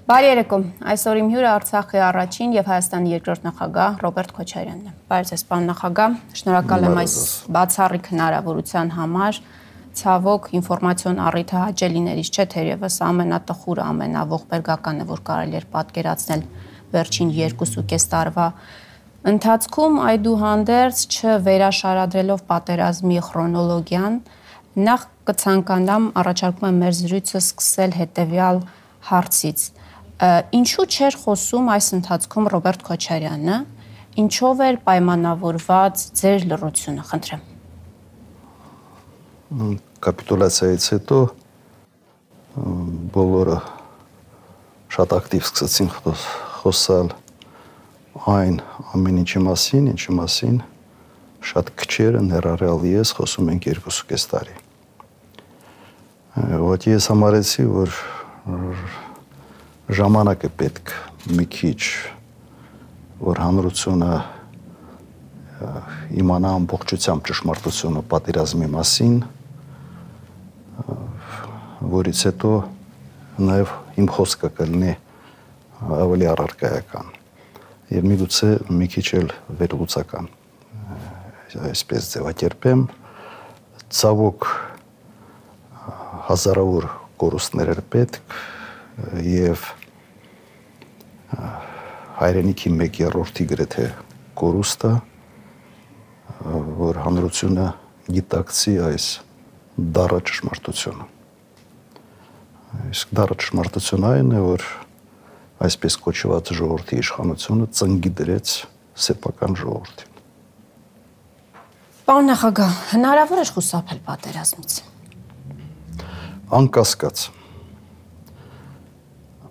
Բարի երեկո, այսօր իմ հյուրը Արցախի առաջին եւ Հայաստանի երկրորդ նախագահ Ռոբերտ Քոչարյանն է։ Բարև ձեզ, պարոն նախագահ, շնորհակալ եմ այս բացառիկ հնարավորության համար։ Ցավոք, ինֆորմացիոն առիթը հաճելիներից չէ, թերևս ամենատխուրը, ամենաողբերգականը, որ կարելի էր պատկերացնել վերջին 2.5 տարվա ընթացքում, այդուհանդերձ չվերաշարադրելով պատերազմի քրոնոլոգիան, նախ կցանկանամ առաջարկում եմ մեր զրույցը սկսել հետևյալ հարցից. Ինչու չէր խոսում այս ընթացքում Ռոբերտ Քոչարյանը, ինչով էր պայմանավորված ձեր լռությունը, խնդրեմ։ Կապիտուլյացիայից հետո բոլորը շատ ակտիվ սկսեցին խոսալ այն ամեն ինչի մասին, շատ քչերը ներառյալ ես խոսում ենք 2.5 տարի։ Ոտ ես համարեցի, որ ժամանակը պետք մի քիչ, որ հանրությունը իմանա ամբողջությամբ ճշմարտությունը պատերազմի մասին, որից հետո նաև իմ խոսքը կլինի ավելի առարկայական եւ միգուցե մի քիչ էլ վերլուծական, այսպես ձևակերպեմ, ցավոք հազարավոր կորուստներ էր պետք եւ հայրենիքի 1/3 գրեթե կորուստը, որ հանրությունը գիտակցի այս դառը ճշմարտությունը։ Իսկ դառը ճշմարտությունը այն է, որ այսպես կոչված ժողովրդի իշխանությունը ծնկի դրեց սեփական ժողովրդին։ Պարոն նախագահ, հնարավոր է խուսափել պատերազմից։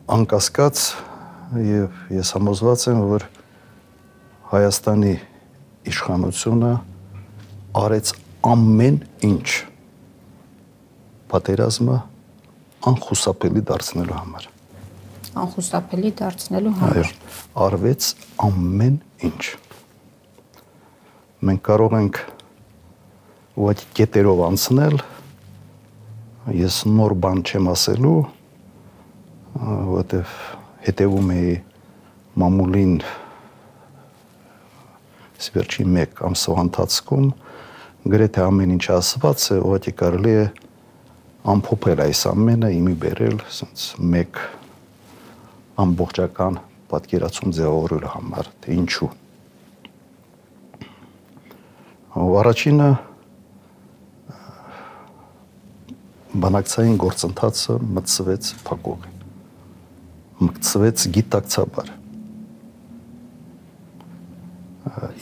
Անկասկած եւ ես համոզված եմ, որ Հայաստանի իշխանությունը արեց ամեն ինչ պատերազմը անխուսափելի դարձնելու համար։ Անխուսափելի դարձնելու համար։ Այո, արվեց ամեն ինչ։ Մենք կարող ենք ուղղակի կետերով անցնել, ես նոր բան չեմ ասելու, որտեվ հետևում էի մամուլին վերջին 1 ամսվա ընթացքում, գրեթե ամեն ինչ ասված է, ուղղակի կարելի է ամփոփել այս ամենը, իմի բերել մեկ ամբողջական պատկերացում ձևավորելու համար, թե ինչու։ Առաջինը բանակցային գործընթացը մտցվեց փակուղի, մտցվեց գիտակցաբար։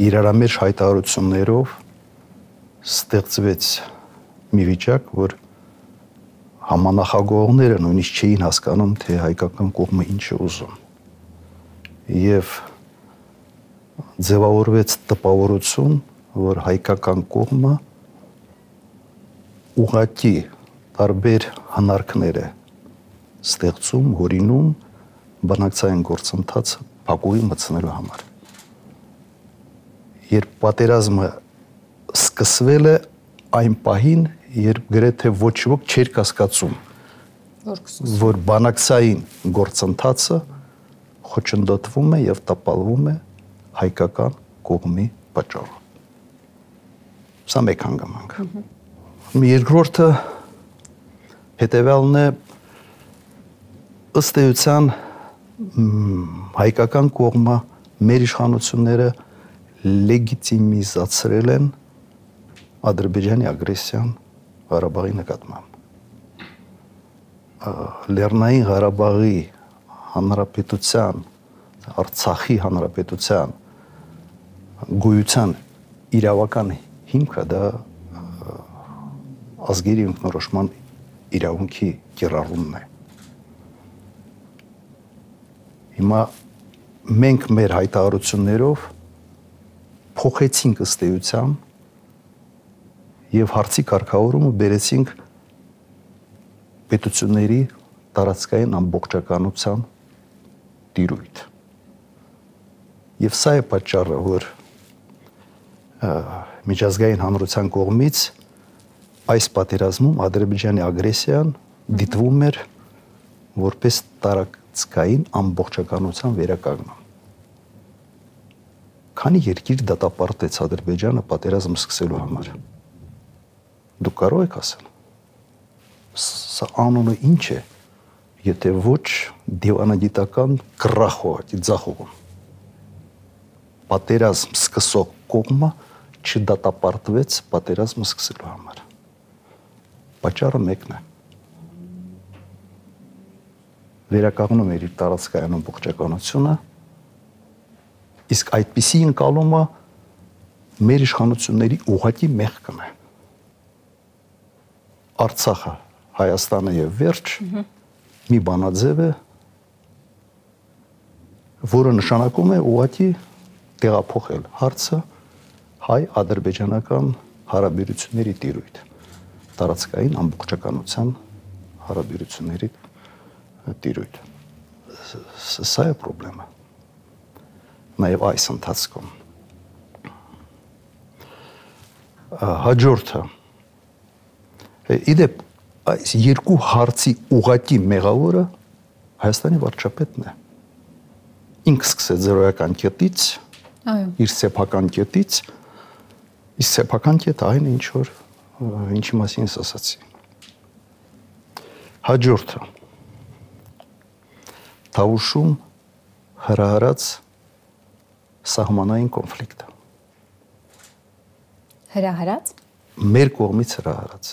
Իրարամերժ հայտարարություններով ստեղծվեց մի վիճակ, որ համանախագահողները նույնիսկ չէին հասկանում, թե հայկական կողմը ինչ է ուզում։ Եվ ձևավորվեց տպավորություն, որ հայկական կողմը ուղղակի տարբեր հնարքներ է ստեղծում, հորինում բանակցային գործընթացը փակուղի մտցնելու համար։ Երբ պատերազմը սկսվել է, այն պահին, երբ գրեթե ոչ ոք չէր կասկածում, որ բանակցային գործընթացը խոչընդոտվում է եւ տապալվում է հայկական կողմի պատճառով։ Սա մեկ հանգամանք։ Երկրորդը հետևյալն է, ըստ էության հայկական կողմը մեր իշխանությունները լեգիտիմիզացրել են Ադրբեջանի ագրեսիան Ղարաբաղի նկատմամբ։ Լեռնային Ղարաբաղի հանրապետության, Արցախի հանրապետության գոյության իրավական հիմքը դա ազգերի ինքնորոշման իրավունքի կիրառումն է։ Հիմա մենք մեր հայտարարություններով փոխեցինք ըստ էության եւ հարցի կարգավորումը բերեցինք պետությունների տարածքային ամբողջականության տիրույթ։ Եվ սա է պատճառը, որ միջազգային հանրության կողմից այս պատերազմում Ադրբեջանի ագրեսիան դիտվում էր որպես տարածքային ամբողջականության վերականգնում։ Քանի երկիր դատապարտեց Ադրբեջանը պատերազմ սկսելու համար։ Դուք կարող եք ասել, սա անունը ինչ է, եթե ոչ դիվանագիտական գրախոհ, ձախողում։ Պատերազմ սկսող կողմը չդատապարտվեց պատերազմը սկսելու համար։ Պատճառը մեկն է։ Վերականգնում էր իր տարածքային ամբողջականությունը, իսկ այդպիսի ընկալումը մեր իշխանությունների ուղղակի մեղքն է։ Արցախը, Հայաստանը եւ վերջ մի բանաձև է, որը նշանակում է ուղղակի տեղափոխել հարցը հայ-ադրբեջանական հարաբերությունների տիրույթ, տարածքային ամբողջականության հարաբերությունների տիրույթ։ Սա է խնդրեմը։ Նաև այս ընթացքում։ Հաջորդը իդեպ այս երկու հարցի ուղղակի մեղավորը Հայաստանի վարչապետն է։ Ինքը սկսեց զրոյական կետից, իր սեփական կետից, իսկ սեփական կետը այն ինչ որ ինչի մասին ես ասացի։ Հաջորդը Թավուշում հրահրած սահմանային կոնֆլիկտը։ Հրահրած։ Մեր կողմից հրահրած,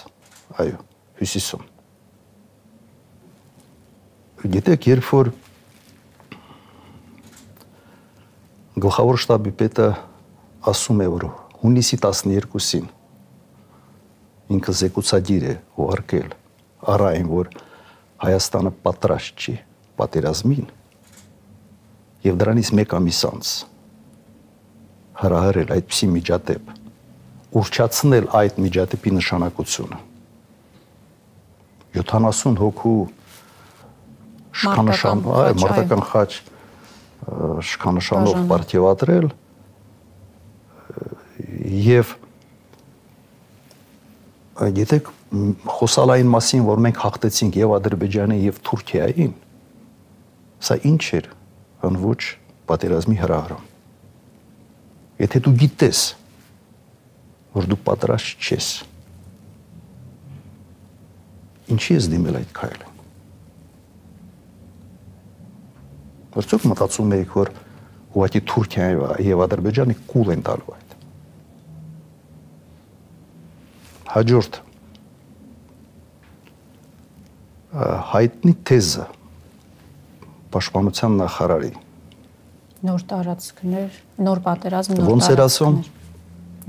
այո, հյուսիսում։ Գիտեք, երբ որ գլխավոր շտաբի պետը ասում է, որ հունիսի 12-ին ինքը զեկուցադիր է ուղարկել առայն, որ Հայաստանը պատրաստ չի պատերազմին եւ դրանից մեկ ամիս անց հրահրել այդպիսի միջադեպ, ուռճացնել այդ միջադեպի նշանակությունը 70 հոգու մարտական խաչ շքանշանով պարգևատրել եւ գիտեք խոսալային մասին, որ մենք հաղթեցինք եւ Ադրբեջանին եւ Թուրքիային, սա ինչ էր, αν ոչ պատերազմի հրահրում։ Եթե դու գիտես, որ դու պատրաստ չես, ինչի ես դիմել այդ քայլին։ Որտեղ մտածում եք, որ ուղղակի Թուրքիան եւ Ադրբեջանը կուլ են տալու այդ։ Հաջորդ հայտնի թեզը պաշտպանության նախարարի նոր տարածքներ, նոր պատերազմ, ոնց էր ասում,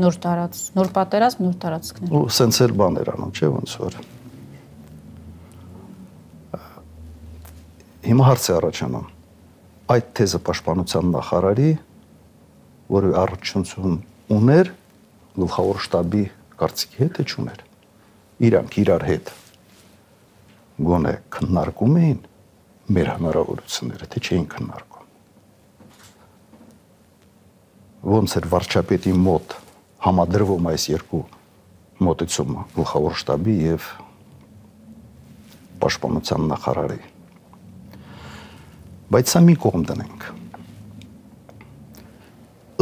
նոր պատերազմ, նոր տարածքներ։ Ու սենց էր բաներ անում, չէ՞ ոնց որ։ Հիմա հարց է առաջանում։ Այդ թեզը պաշտպանության նախարարի, որը առողջություն ուներ գլխավոր շտաբի կարծիքի հետ է չուներ։ Իրանք իրար հետ գոնե քննարկում էին մեր հնարավորությունները, թե չէին քննարկում։ Ոնց էր վարչապետի մոտ համադրվում այս երկու մոտեցումը գլխավոր շտաբի եւ պաշտպանության նախարարի։ Բայց սա մի կողմ դնենք։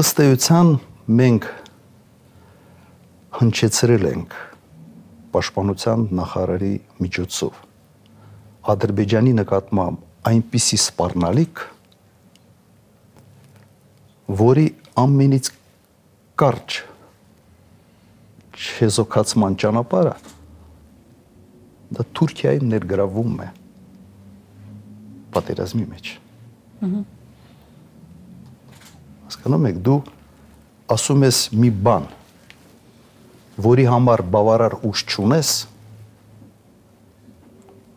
Ըստ էության մենք հնչեցրել ենք պաշտպանության նախարարի միջոցով Ադրբեջանի նկատմամբ այնպիսի սպառնալիք, որի ամենից կարճ չեզոքացման ճանապարհը դա Թուրքիայի ներգրավում է պատերազմի մեջ։ Հասկանում եք, դու ասում ես մի բան, որի համար բավարար ուժ չունես,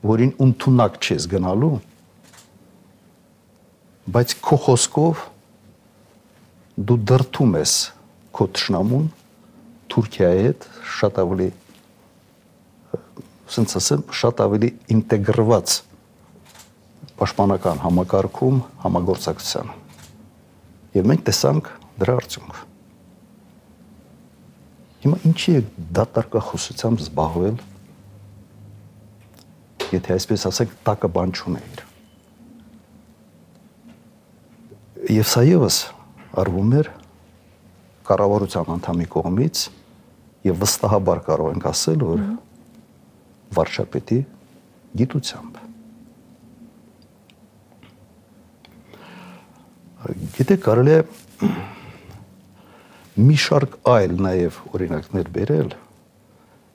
որին ընդունակ չես գնալու, բայց քո խոսքով դու դրդում ես քո թշնամուն Թուրքիայի հետ շատ ավելի, ասենց ասեմ, շատ ավելի ինտեգրված պաշտպանական համակարգում համագործակցության։ Եվ մենք տեսանք դրա արդյունքը։ Հիմա ինչի է դատարկախոսությամբ զբաղվել, եթե այսպես ասենք, տակը բան չունեիր։ Եվ սա ևս արվում էր կառավարության անդամի կողմից եւ վստահաբար կարող ենք ասել, որ վարչապետի գիտությամբ։ Գիտեք, կարելի է մի շարք այլ նաեւ օրինակներ բերել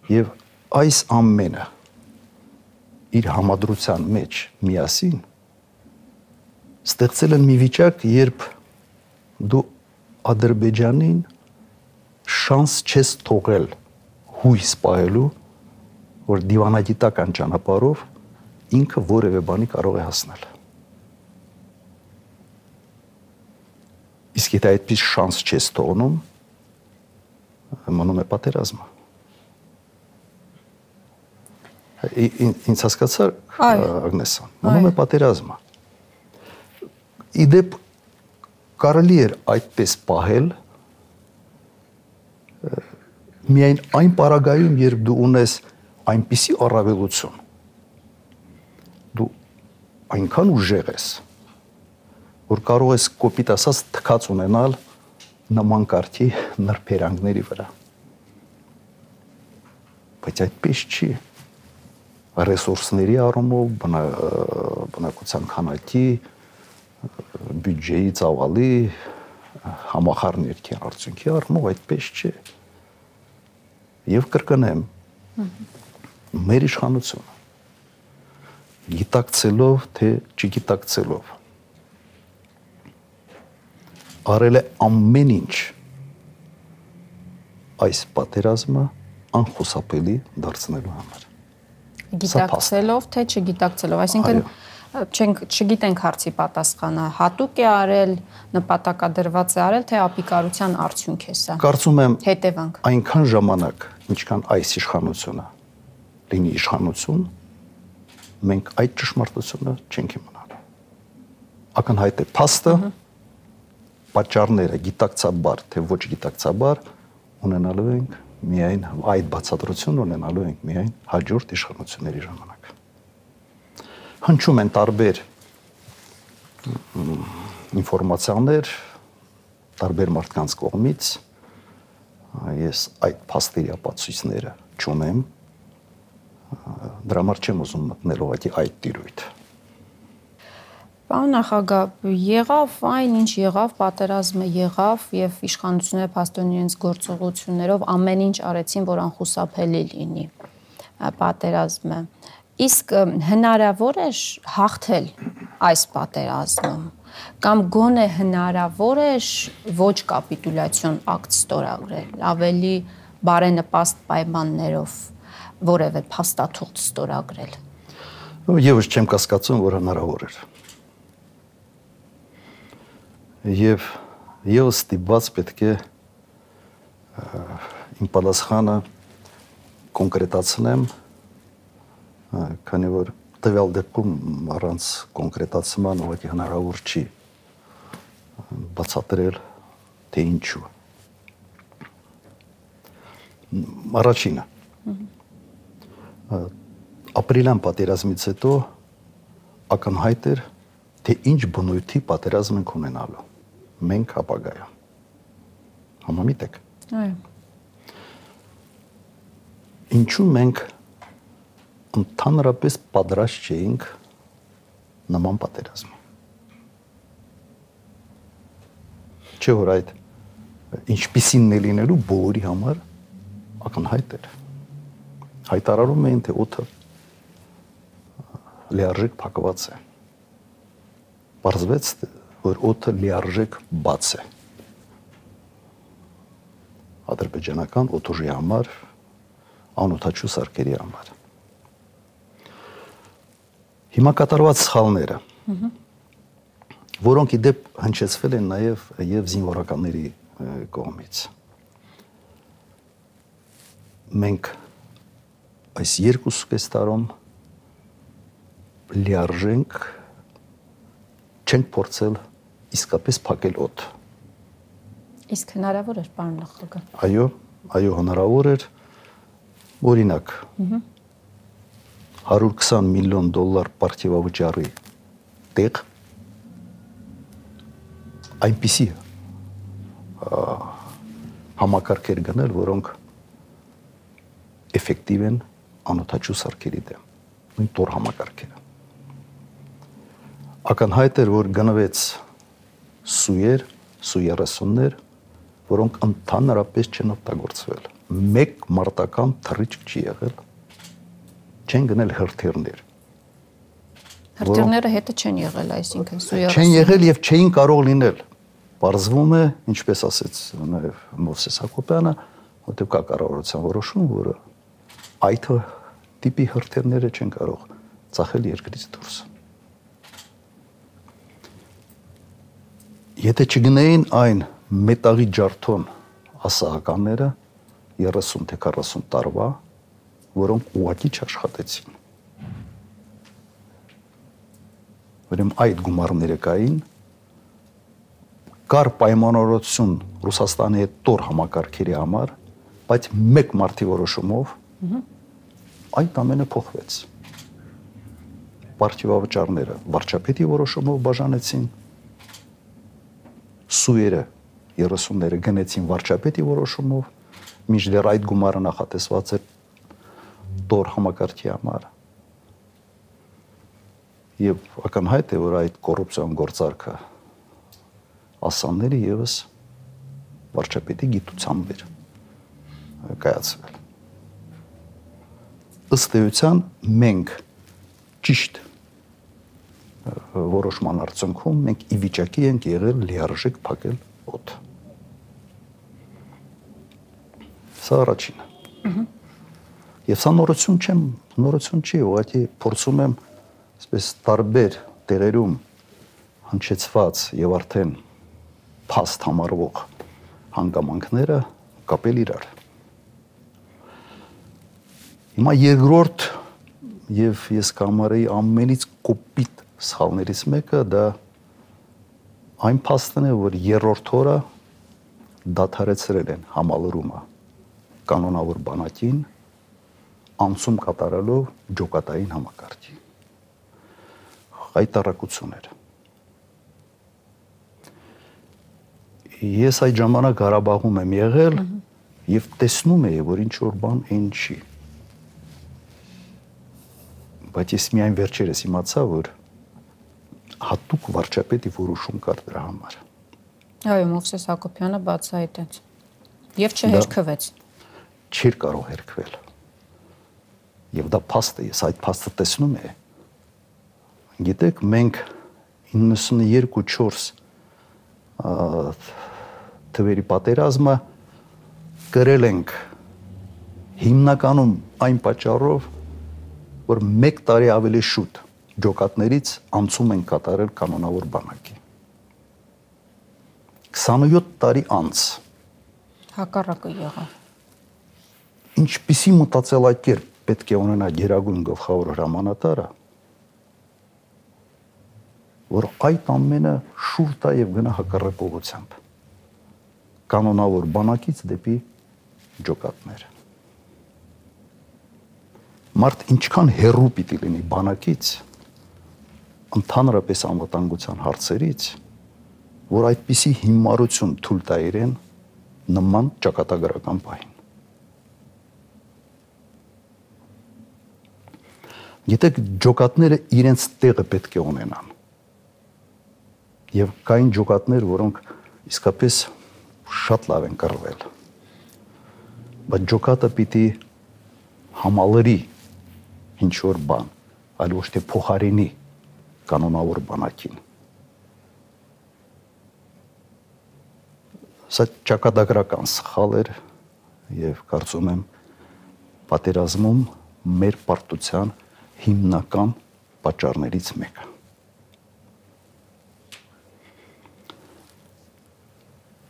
եւ այս ամենը իր համադրության մեջ միասին ստեղծել են մի վիճակ, երբ դու Ադրբեջանին շանս չես թողել հույս պահելու, որ դիվանագիտական ճանապարհով ինքը որևէ բանի կարող է հասնել։ Իսկ եթե այդպես շանս չես թողնում, մնում է պատերազմը։ Ինձ հասկացա՞ր, Ագնեսա, մնում է պատերազմը։ Իդեպ կարելի էր այդպես պահել միայն այն պարագայում, երբ դու ունես այնպիսի առավելություն, դու այնքան ուժեղ ես, որ կարող ես կոպիտ ասած թքած ունենալ նման կարգի նրբերանգների վրա։ Բայց այդպես չի։ Ռեսուրսների առումով, բնակության քանակի, բյուջեի ծավալի, համախառն ներքի արդյունքի առումով այդպես չէ։ Եվ կրկնեմ, մեր իշխանությունը գիտակցելով, թե չգիտակցելով արել է ամեն ինչ այս պատերազմը անխուսափելի դարձնելու համար։ Գիտակցելով, թե չգիտակցելով, այսինքն չգիտենք հարցի պատասխանը, հատուկ է արել, նպատակադրված է արել, թե ապիկարության արդյունք է սա։ Կարծում եմ, հետևանք այնքան ժամանակ, ինչքան այս իշխանությունը լինի իշխանություն, մենք այդ ճշմարտությունը չենք իմանալու։ Ակնհայտ է փաստը, պատճառները գիտակցաբար, թե ոչ գիտակցաբար ունենալու ենք միայն այդ բացատրությունը ունենալու ենք միայն հաջորդ իշխանությունների ժամանակ։ Հնչում են տարբեր ինֆորմացիաներ, տարբեր մարդկանց կողմից, ես այդ փաստերի ապացույցները չունեմ, դրա համար չեմ ուզում մտնել ուղղակի այդ տիրույթ։ Պարոն նախագահ, եղավ այն, ինչ եղավ, պատերազմը եղավ եւ իշխանությունները փաստորեն իրենց գործողություններով ամեն ինչ արեցին, որ անխուսափելի լինի պատերազմը։ Իսկ հնարավոր է հաղթել այս պատերազմում կամ գոնե հնարավոր է ոչ կապիտուլյացիոն ակտ ստորագրել, ավելի բարենպաստ պայմաններով որևէ փաստաթուղթ ստորագրել։ Եվս չեմ կասկածում, որ հնարավոր էր։ Եվ ես ստիպված պետք է իմ պատասխանը կոնկրետացնեմ, քանի որ տվյալ դեպքում առանց կոնկրետացման ուղղակի հնարավոր չի բացատրել, թե ինչու։ Առաջինը, ապրիլյան պատերազմից հետո ակնհայտ էր, թե ինչ բնույթի պատերազմ ենք ունենալու, մենք ապագայում։ Համամիտ եք։ Այո։ Ինչու մենք ընդհանրապես պատրաստ չէինք նման պատերազմի։ Չէ՞ որ այդ ինչպիսին է լինելու բոլորի համար ակնհայտ էր։ Հայտարարում էին, թե օդը լիարժեք փակված է։ Պարզվեց, որ օդը լիարժեք բաց է։ Ադրբեջանական օդուժի համար, անօդաչու սարքերի համար։ Հիմա կատարված սխալները, որոնք իդեպ հնչեցվել են նաև եւ զինվորականների կողմից։ Մենք այս 2.5 տարում լիարժենք չենք փորձել իսկապես փակել օդ։ Իսկ հնարավոր էր, պարոն նախագահ։ Այո, հնարավոր էր։ Օրինակ, $120 միլիոն պարգևավճարի տեղ այնպիսի համակարգեր գնել, որոնք էֆեկտիվ են անօթաչու սարքերի դեմ, նույն տոր համակարգերը։ Ակնհայտ էր, որ գնվեց սուեր, Su-30-ներ, որոնք ընդհանրապես չեն օգտագործվել։ Մեկ մարտական թռիչք չի եղել, չեն գնել հրթիռներ։ Հրթիռները հետը չեն եղել, այսինքն Su-30 չեն եղել եւ չէին կարող լինել։ Պարզվում է, ինչպես ասեց նաեւ Մովսես Հակոբյանը, որտեղ կա կառավարության որոշում, որը այդ տիպի հրթիռները չեն կարող ծախել երկրից դուրս։ Եթե չգնային այն մետաղի ջարդոն ասահականները 30 թե 40 տարվա, որոնք ուղղակի չաշխատեցին։ Ուրեմն այդ գումարները կային, կար պայմանավորություն Ռուսաստանի հետ տոր համակարգերի համար, բայց մեկ մարտի որոշումով այդ ամենը փոխվեց։ Պարտիվավճարները վարչապետի որոշումով բաժանեցին, Սուերը 30-ները գնեցին վարչապետի որոշումով, մինչդեռ այդ գումարը նախատեսված էր տոր համակարգի համար։ Եվ ակնհայտ է, որ այդ կոռուպցիոն գործարքը ասանները եւս վարչապետի գիտությամբ էր կայացվել։ Ըստ էության մենք ճիշտ որոշման արդյունքում մենք ի վիճակի ենք եղել լիարժեք փակել օդ։ Սա առաջինը։ Եվ սա նորություն չի, ուղղակի փորձում եմ այսպես տարբեր տեղերում հնչեցված եւ արդեն փաստ համարվող հանգամանքները կապել իրար։ Հիմա երկրորդ եւ ես կամարեի ամենից կոպիտ սխալներից մեկը դա այն փաստն է, որ երրորդ օրը դադարեցրել են համալրումը կանոնավոր բանակին անցում կատարելով ջոկատային համակարգի։ Հայտարարություն էր։ Ես այդ ժամանակ Ղարաբաղում եմ եղել եւ տեսնում էի, որ ինչ որ բան այն չի։ Բայց ես միայն վերջերս իմացա, որ հատուկ վարչապետի որոշում կար դրա համար։ Այո, Մովսես Հակոբյանը բացահայտեց։ Եվ չհերքվեց։ Չէր կարող հերքվել։ Եվ դա փաստ է, ես այդ փաստը տեսնում եմ։ Գիտեք, մենք 92-4 թվերի պատերազմը կրել ենք հիմնականում այն պատճառով, որ 1 տարի ավելի շուտ ջոկատներից անցում են կատարել կանոնավոր բանակի։ 27 տարի անց հակառակը եղավ։ Ինչպիսի մտածելակերպ պետք է ունենա գերագույն գլխավոր հրամանատարը, որ այդ ամենը շուր տա եւ գնա հակառակ ուղղությամբ։ Կանոնավոր բանակից դեպի ջոկատներ։ Մարդ ինչքան հեռու պիտի լինի բանակից, ընդհանրապես անվտանգության հարցերից, որ այդպիսի հիմարություն թույլ տա իրեն նման ճակատագրական պահին։ Գիտեք, ջոկատները իրենց տեղը պետք է ունենան։ Եվ կային ջոկատներ, որոնք իսկապես շատ լավ են կռվել։ Բայց ջոկատը պիտի համալրի ինչ-որ բան, այլ ոչ թե փոխարինի կանոնավոր բանակին։ Սա ճակատագրական սխալ էր եւ կարծում եմ պատերազմում մեր պարտության հիմնական պատճառներից մեկը։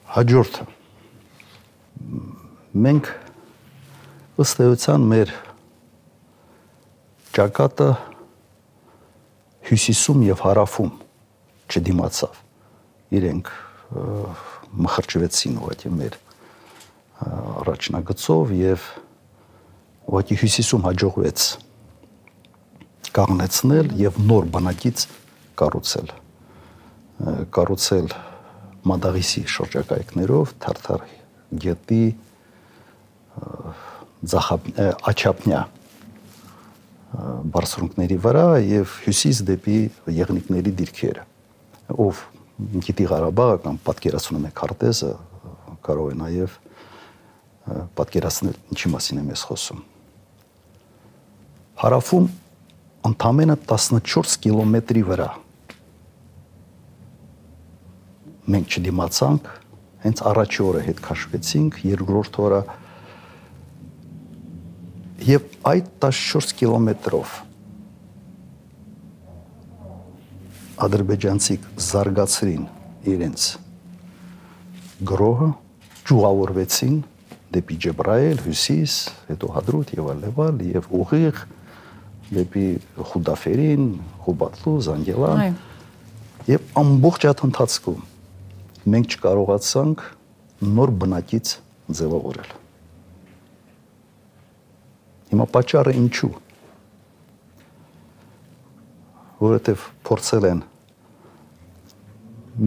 Հաջորդը մենք ըստ էության մեր ճակատը հյուսիսում եւ հարավում չդիմացավ։ Իրենք մխրճվեցին ուղղակի մեր առաջնագծով եւ ուղղակի հյուսիսում հաջողվեց կանգնեցնել եւ նոր բանակից կառուցել Մադաղիսի շրջակայքներով Թարթար գետի աչափնյա բարձունքների վրա եւ հյուսիս դեպի եղնիկների դիրքերը, ով գիտի Ղարաբաղը կամ պատկերացնում է քարտեզը, կարող է նաեւ պատկերացնել ինչի մասին եմ ես խոսում։ Հարավում ընդամենը 14 կիլոմետրի վրա մենք չդիմացանք, հենց առաջի օրը հետ քաշվեցինք, երկրորդ օրը եւ այդ 14 կիլոմետրով ադրբեջանցիք զարգացրին իրենց գրոհը, ճյուղավորվեցին դեպի Ջեբրայել, Հյուսիս, հետո Հադրութ եւ այլն եւ ուղիղ դեպի Խուդաֆերին, Խուբատլու, Զանգելան եւ ամբողջ այդ ընթացքում մենք չկարողացանք նոր բնակից ձևավորել։ Հիմա պատճառը ինչու։ Որովհետև փորձել են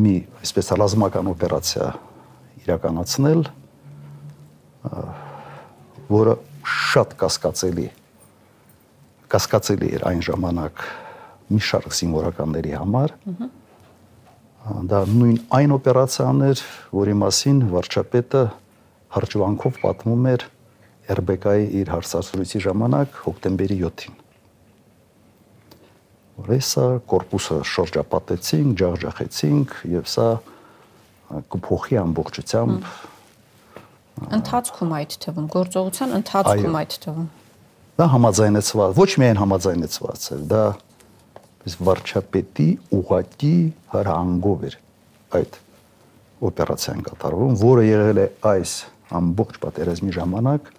մի այսպես ռազմական օպերացիա իրականացնել, որը շատ կասկածելի էր այն ժամանակ մի շարք զինվորականների համար։ Դա նույն այն օպերացիան էր, որի մասին վարչապետը հրճվանքով պատմում էր RBK-ի իր հարցազրույցի ժամանակ հոկտեմբերի 7-ին։ Որ սա կորպուսը շրջապատեցինք, ջախջախեցինք եւ սա կփոխի ամբողջությամբ ընթացքում այդ թվում, գործողության ընթացքում այդ թվում։ Դա համաձայնեցված, ոչ միայն համաձայնեցված էր, դա վարչապետի ուղղակի հրահանգով էր այդ օպերացիան կատարվում, որը եղել է այս ամբողջ պատերազմի ժամանակ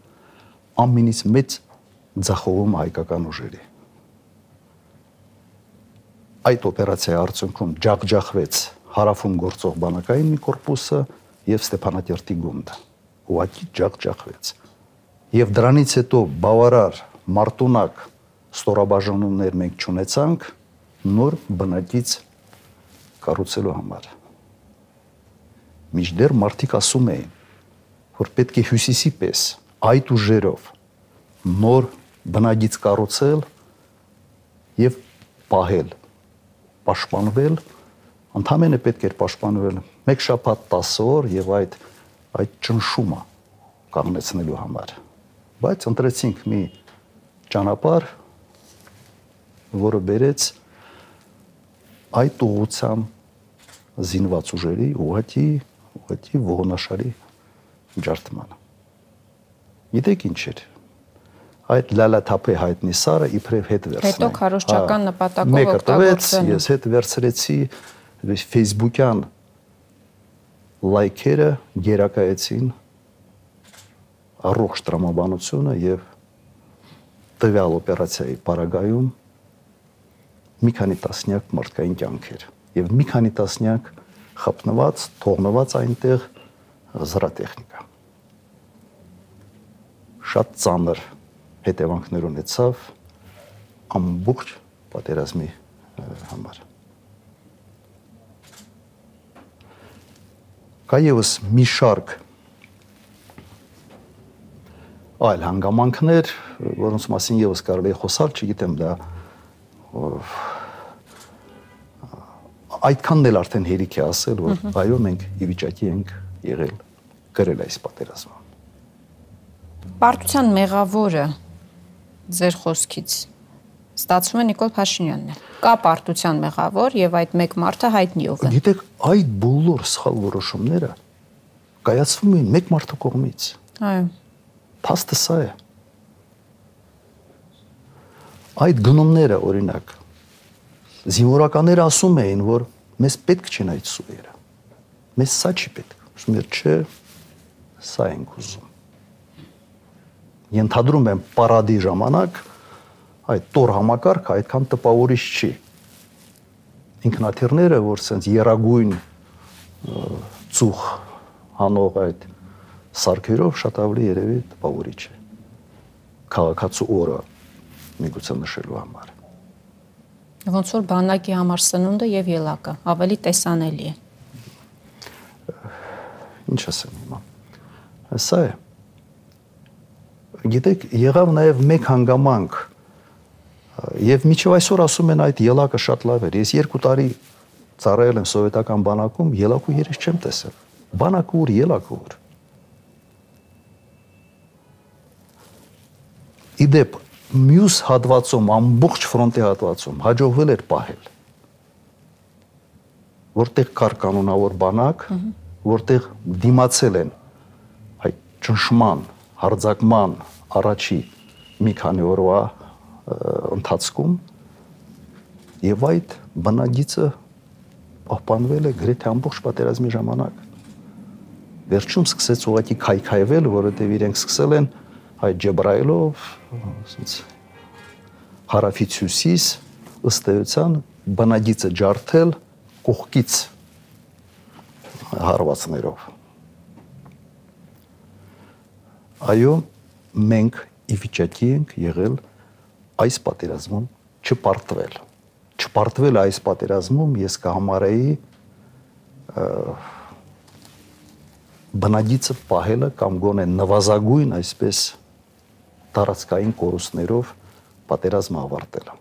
ամենից մեծ ձախողում հայկական ուժերի։ Այդ օպերացիայի արդյունքում ջախջախվեց հարավում գործող բանակային մի կորպուսը եւ Ստեփանակերտի գունդը։ Ուղղակի ջախջախվեց։ Եվ դրանից հետո բավարար մարտունակ ստորաբաժանումներ մենք չունեցանք նոր բնակից կառուցելու համար։ Մինչդեռ մարդիկ ասում էին, որ պետք է Հյուսիսի պես այդ ուժերով նոր բնակից կառուցել եւ պահել, պաշտպանվել, ընդհանրապես պետք էր պաշտպանվել 1 շաբաթ 10 օր եւ այդ ճնշումը կանգնեցնելու համար։ Բայց ընտրեցինք մի ճանապարհ, որը բերեց այդ ուղղությամբ զինված ուժերի ուղղակի ողնաշարի ջարդմանը։ Գիտեք ինչ էր։ Այդ լալաթափե հայտնի սարը իբրև հետ վերցնել։ Հետո քարոզչական նպատակով օգտագործել։ Ես հետ վերցրեցի Facebook-յան լայքերը գերակայեցին առողջ տրամաբանությունը եւ տվյալ օպերացիայի պարագայում մի քանի տասնյակ մարդկային կյանքեր եւ մի քանի տասնյակ խփնված, թողնված այնտեղ զրատեխնիկա։ Շատ ծանր հետևանքներ ունեցավ ամբողջ պատերազմի համար։ Կա ևս մի շարք այլ հանգամանքներ, որոնց մասին ևս կարելի է խոսալ, չգիտեմ դա այդքանն էլ արդեն հերիք է ասել, որ այո մենք ի վիճակի ենք եղել գրել այս պատերազմը։ Պարտության մեղավորը ձեր խոսքից ստացվում է Նիկոլ Փաշինյանն է։ Կա պարտության մեղավոր եւ այդ մեկ մարդը հայտնի ով է։ Գիտեք, այդ բոլոր սխալ որոշումները կայացվում են մեկ մարդու կողմից։ Այո։ Փաստը սա է։ Այդ գնումները, օրինակ, զինվորականները ասում էին, որ մեզ պետք չեն այդ սուերը։ Մեզ սա չի պետք։ Ասում են, չէ, սա ենք ուզում։ Ենթադրում եմ պարադի ժամանակ այդ տոր համակարգը այդքան տպավորիչ չի։ Ինքնաթիռները, որ սենց երագույն ծուխ հանող այդ սարքերով շատ ավելի երևի տպավորիչ է։ Քաղաքացու օրը միգուցե նշելու համար։ Ոնց որ բանակի համար սնունդը եւ ելակը ավելի տեսանելի է։ Ինչ ասեմ հիմա։ Սա է։ Գիտեք, եղավ նաև մեկ հանգամանք, եւ միջև այսօր ասում են այդ ելակը շատ լավ էր։ Ես 2 տարի ծառայել եմ սովետական բանակում, ելակու երես չեմ տեսել։ Բանակը ուր, ելակը ուր։ Իդեպ մյուս հատվածում, ամբողջ ֆրոնտի հատվածում հաջողվել էր պահել, որտեղ կար կանոնավոր բանակ, որտեղ դիմացել են այդ ճնշման, հարձակման առաջի մի քանի օրվա ընթացքում եւ այդ բնագիծը պահպանվել է գրեթե ամբողջ պատերազմի ժամանակ։ Վերջում սկսեց ուղղակի քայքայվել, որովհետեւ իրենք սկսել են այդ Ջեբրայելով, ասենց հարավից հյուսիս ըստ էության բնագիծը ջարդել կողքից հարվածներով։ Այո, մենք ի վիճակի ենք եղել այս պատերազմում չպարտվել։ Չպարտվել այս պատերազմում ես կհամարեի բնագիծը պահելը կամ գոնե նվազագույն այսպես տարածքային կորուստներով պատերազմը ավարտելը։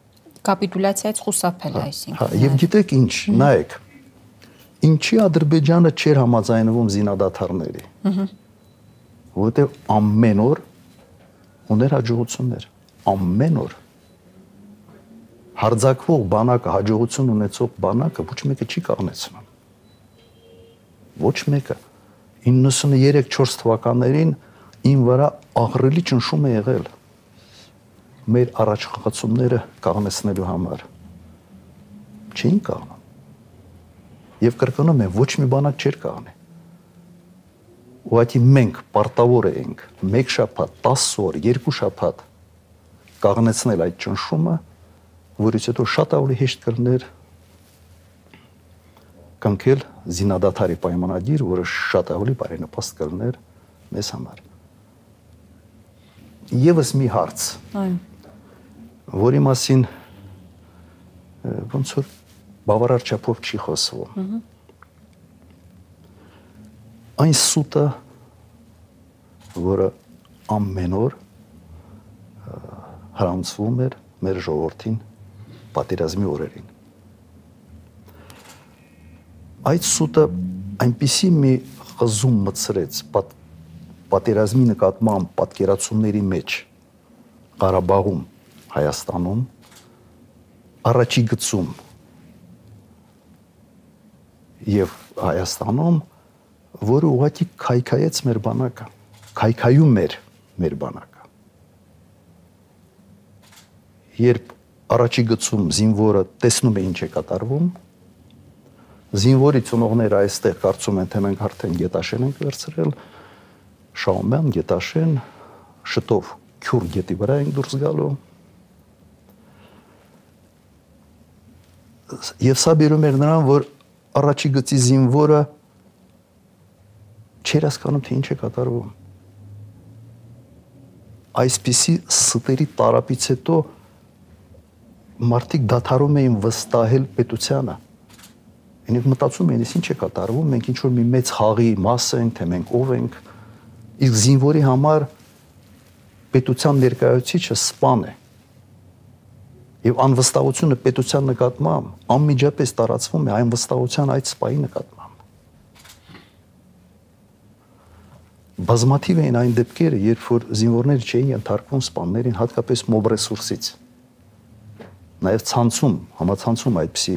Կապիտուլյացիայից խուսափել է այսինքն։ Եվ գիտեք ինչ, նայեք, ինչի Ադրբեջանը չէր համաձայնվում զինադադարների։ Որովհետև ամեն օր ուներ հաջողություններ, ամեն օր հարձակվող բանակը, հաջողություն ունեցող բանակը ոչ մեկը չի կանգնեցնում։ Ոչ մեկը 93-4 թվականներին ին վրա աղրելի ճնշում է եղել մեր առաջխաղացումները կանգնեցնելու համար։ Չէին կանգնում։ Եվ կրկնում եմ, ոչ մի բանակ չէր կանգնի։ Ուղղակի մենք պարտավոր էինք 1 շաբաթ, 10 օր, 2 շաբաթ կանգնեցնել այդ ճնշումը, որից հետո շատ ավելի հեշտ կլներ կնքել զինադադարի պայմանագիր, որը շատ ավելի բարենպաստ կլներ մեզ համար։ Եվս մի հարց, որի մասին ոնց որ բավարար չափով չի խոսվում։ Այն սուտը, որը ամեն օր հрамցվում էր մեր ժողովրդին պատերազմի օրերին։ Այդ սուտը այնպիսի մի խզում մտցրեց պատերազմի նկատմամբ պատկերացումների մեջ Ղարաբաղում, Հայաստանում, առաջի գծում եւ Հայաստանում, որը ուղղակի քայքայեց մեր բանակը, քայքայում էր մեր բանակը։ Երբ առաջի գծում զինվորը տեսնում է ինչ է կատարվում, զինվորի ծնողները այստեղ կարծում են, թե մենք արդեն Գետաշեն ենք վերցրել, Շահումյան, Գետաշեն, շտով Քյուր գետի վրա ենք դուրս գալու։ Եվ սա բերում էր նրան, որ առաջի գծի զինվորը չէր հասկանում, թե ինչ է կատարվում։ Այսպիսի ստերի տարապից հետո մարդիկ դադարում էին վստահել պետությանը։ Ինք մտածում էին, ինչ է կատարվում, մենք ինչ որ մի մեծ խաղի մաս ենք, թե մենք ով ենք։ Իսկ զինվորի համար պետության ներկայացուցիչը սպան է։ Եվ անվստահությունը պետության նկատմամբ անմիջապես տարածվում է այն վստահության այդ սպայի նկատմամբ։ Բազմաթիվ էին այն դեպքերը, երբ որ զինվորները չէին ենթարկվում սպաններին, հատկապես մոբ ռեսուրսից։ Նաև ցանցում, համացանցում այդպիսի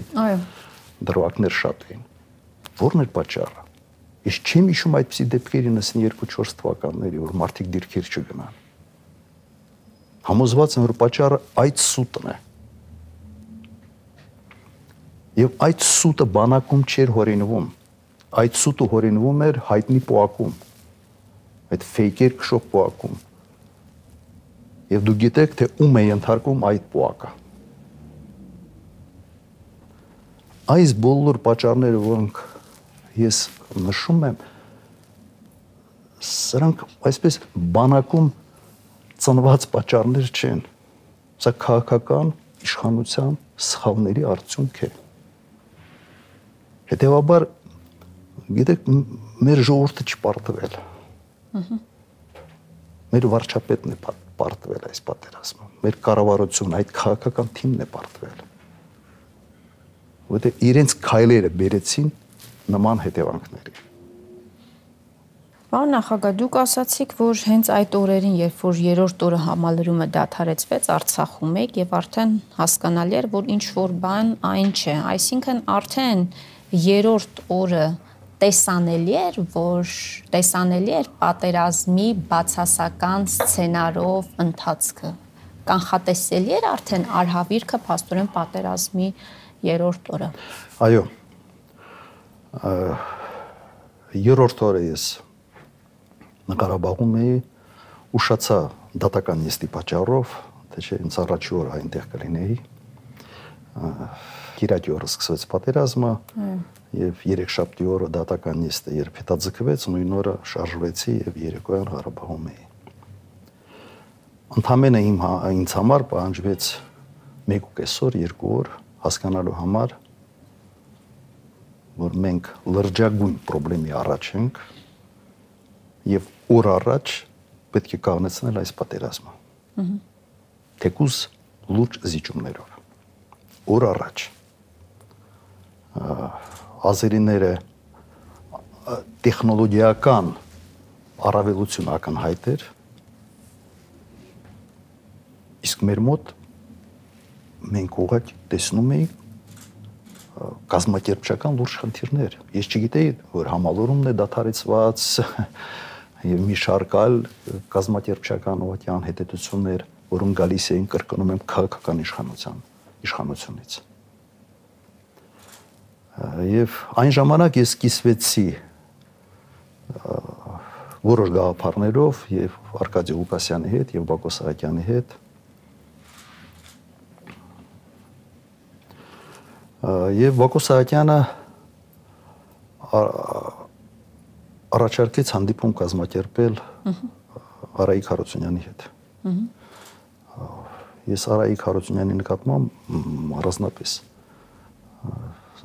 դրվագներ շատ էին։ Որն էր պատճառը։ Ես չեմ հիշում այդպիսի դեպքերի 92-4 թվականների, որ մարդիկ դիրքեր չգնան։ Համոզված եմ, որ պատճառը այդ սուտն է։ Եվ այդ սուտը բանակում չէր հորինվում։ Այդ սուտը հորինվում էր հայտնի պոակում։ Այդ ֆեյքեր քշող պոակում։ Եվ դուք գիտեք, թե ում է ենթարկում այդ պոակը։ Այս բոլոր պատճառները, որոնք ես նշում եմ, սրանք այսպես բանակում ծնված պատճառներ չեն։ Սա քաղաքական իշխանության սխալների արդյունք է։ Հետևաբար Գիտեք, մեր ժողովուրդը չպարտվել։ Մեր վարչապետն է պարտվել այս պատերազմը։ Մեր կառավարությունը, այդ քաղաքական թիմն է պարտվել։ Որտեղ իրենց քայլերը բերեցին նման հետևանքների։ Պարոն նախագահ, դուք ասացիք, որ հենց այդ օրերին, երբ որ երրորդ օրը համալրումը դադարեցվեց, Արցախում եք եւ արդեն հասկանալի էր, որ ինչ որ բան այն չէ, այսինքն արդեն երրորդ օրը տեսանելի էր պատերազմի բացասական սցենարով ընթացքը, կանխատեսելի էր արդեն արհավիրքը փաստորեն պատերազմի երրորդ օրը։ Այո, երրորդ օրը ես Ղարաբաղում էի, ուշացա դատական նիստի պատճառով, թե չէ ինձ առաջի օրը այնտեղ կլինեի։ Կիրակի օրը սկսվեց պատերազմը եւ երեքշաբթի օրը դատական նիստը երբ հետաձգվեց, նույն օրը շարժվեցի եւ երեկոյան Ղարաբաղում էի։ Ընդամենը ինձ համար պահանջվեց 1.5 օր, 2 օր հասկանալու համար, որ մենք լրջագույն խնդրի առաջ ենք եւ օր առաջ պետք է կանգնեցնել այս պատերազմը։ Թեկուզ լուրջ զիջումներով։ Օր առաջ ազերիները տեխնոլոգիական առավելություն ակնհայտ էր, իսկ մեր մոտ մենք ուղղակի տեսնում էինք կազմակերպչական լուրջ խնդիրներ։ Ես չգիտեի, որ համալուրումն է դադարեցված եւ մի շարք այլ կազմակերպչական ուղղակի անհետեցություններ, որոնք գալիս էին կրկնում եմ քաղաքական իշխանությունից։ Եվ այն ժամանակ ես կիսվեցի որոշ գաղափարներով եւ Արկադի Ղուկասյանի հետ եւ Բակո Սահակյանի հետ։ Եվ Բակո Սահակյանը առաջարկեց հանդիպում կազմակերպել Արայիկ Հարությունյանի հետ։ Ես Արայիկ Հարությունյանի նկատմամբ առանձնապես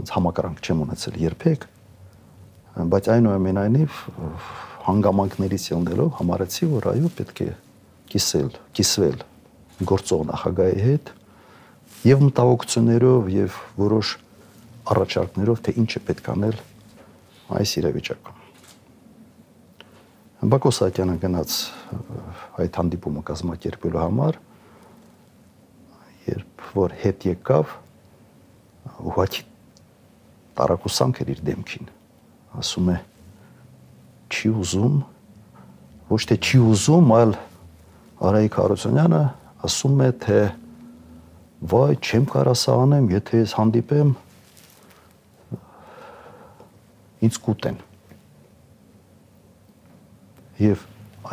համակրանք չեմ ունեցել երբեք, բայց այնուամենայնիվ հանգամանքներից ելնելով համարեցի, որ այո պետք է կիսվել գործող նախագահի հետ եւ մտահոգություններով եւ որոշ առաջարկներով, թե ինչ է պետք անել այս իրավիճակում։ Բակո Սահակյանը գնաց այդ հանդիպումը կազմակերպելու համար, երբ որ հետ եկավ, ուղղակի տարակուսանք էր իր դեմքին, ասում է չի ուզում, ոչ թե չի ուզում, այլ Արայիկ Հարությունյանը ասում է, թե վայ, չեմ կարա սա անեմ, եթե ես հանդիպեմ, ինձ կուտեն։ Եվ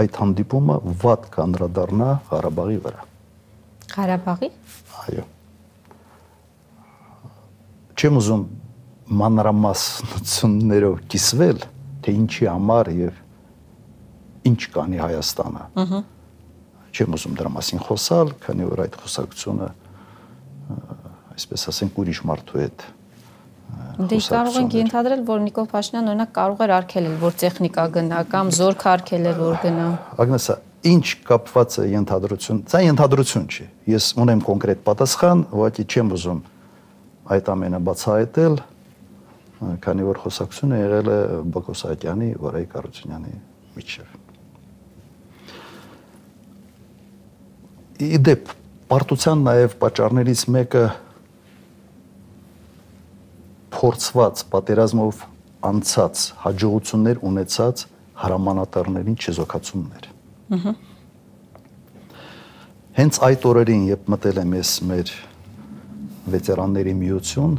այդ հանդիպումը վատ կանդրադառնա Ղարաբաղի վրա։ Ղարաբաղի։ Այո։ Չեմ ուզում մանրամասնություններով կիսվել, թե ինչի համար եւ ինչ կանի Հայաստանը։ Չեմ ուզում դրա մասին խոսալ, քանի որ այդ խոսակցությունը այսպես ասենք ուրիշ մարդու հետ։ Դե կարող ենք ենթադրել, որ Նիկոլ Փաշինյանը օրինակ կարող էր արգելել, որ տեխնիկա գնա կամ զորք արգելել, որ գնա։ Ագնեսա, ինչ կապված է ենթադրություն, դա ենթադրություն չի։ Ես ունեմ կոնկրետ պատասխան, ուղղակի չեմ ուզում այդ ամենը բացահայտել, քանի որ խոսակցությունը եղել է Բակո Սահակյանի, Արայիկ Հարությունյանի միջև։ Իդեպ պարտության նաև պատճառներից մեկը փորձված պատերազմով անցած հաջողություններ ունեցած հրամանատարներին չեզոքացումներ։ Հենց այդ օրերին, երբ մտել եմ ես մեր վետերանների միություն,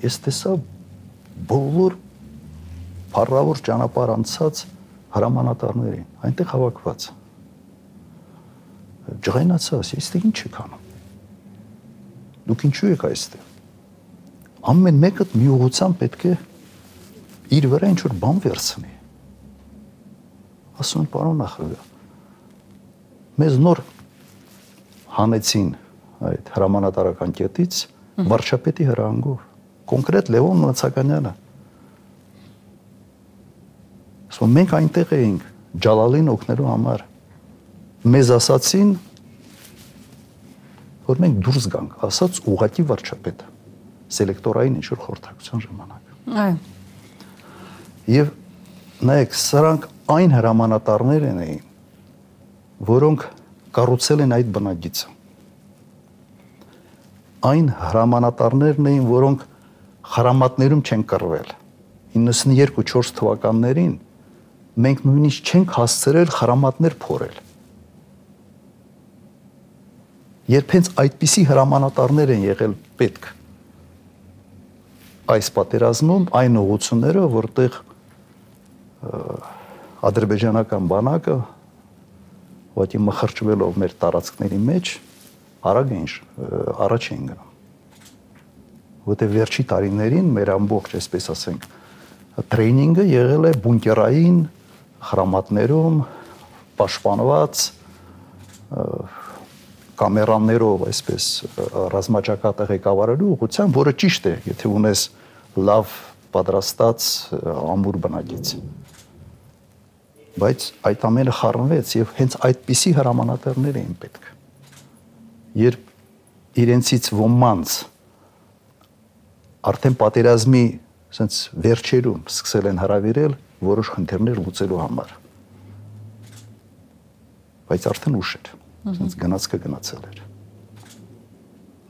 ես տեսա բոլոր փառավոր ճանապարհ անցած հրամանատարներին, այնտեղ հավաքված։ Ջղայնացա, այստեղ ինչ եք անում։ Դուք ինչու եք այստեղ։ Ամեն մեկը մի ուղղությամբ պետք է իր վրա ինչ-որ բան վերցնի։ Ասում են, պարոն նախագահ, մեզ նոր հանեցին այդ հրամանատարական կետից վարչապետի հրահանգով, կոնկրետ Լևոն Նացականյանը, Ասում մենք այնտեղ էինք Ջալալին օգնելու համար։ Մեզ ասացին, որ մենք դուրս գանք, ասաց ուղղակի վարչապետը սելեկտորային ինչ-որ խորհրդակցության ժամանակ։ Այո։ Եվ նայեք, սրանք այն հրամանատարներ էին, որոնք կառուցել են այդ բնագիծը։ Այն հրամանատարներն էին, որոնք խրամատներում չեն կռվել։ 92-4 թվականներին մենք նույնիսկ չենք հասցրել խրամատներ փորել։ Երբ հենց այդպիսի հրամանատարներ են եղել պետք այս պատերազմում, այն ուղղությունները, որտեղ ադրբեջանական բանակը ուղղակի մխրճվելով մեր տարածքների մեջ արագ էին առաջ էին գնում։ Որտեղ վերջի տարիներին մեր ամբողջ, այսպես ասենք, տրեյնինգը եղել է բունկերային խրամատներում պաշտպանված կամերաներով, այսպես ռազմաճակատը ղեկավարելու ուղղությամբ, որը ճիշտ է, եթե ունես լավ պատրաստած ամուր բնագիծ։ Բայց այդ ամենը խառնվեց եւ հենց այդպիսի հրամանատարներ էին պետք։ Երբ իրենցից ոմանց արդեն պատերազմի ասենց վերջերում սկսել են հրավիրել որոշ խնդիրներ լուծելու համար։ Բայց արդեն ուշ էր, ասենց գնացքը գնացել էր։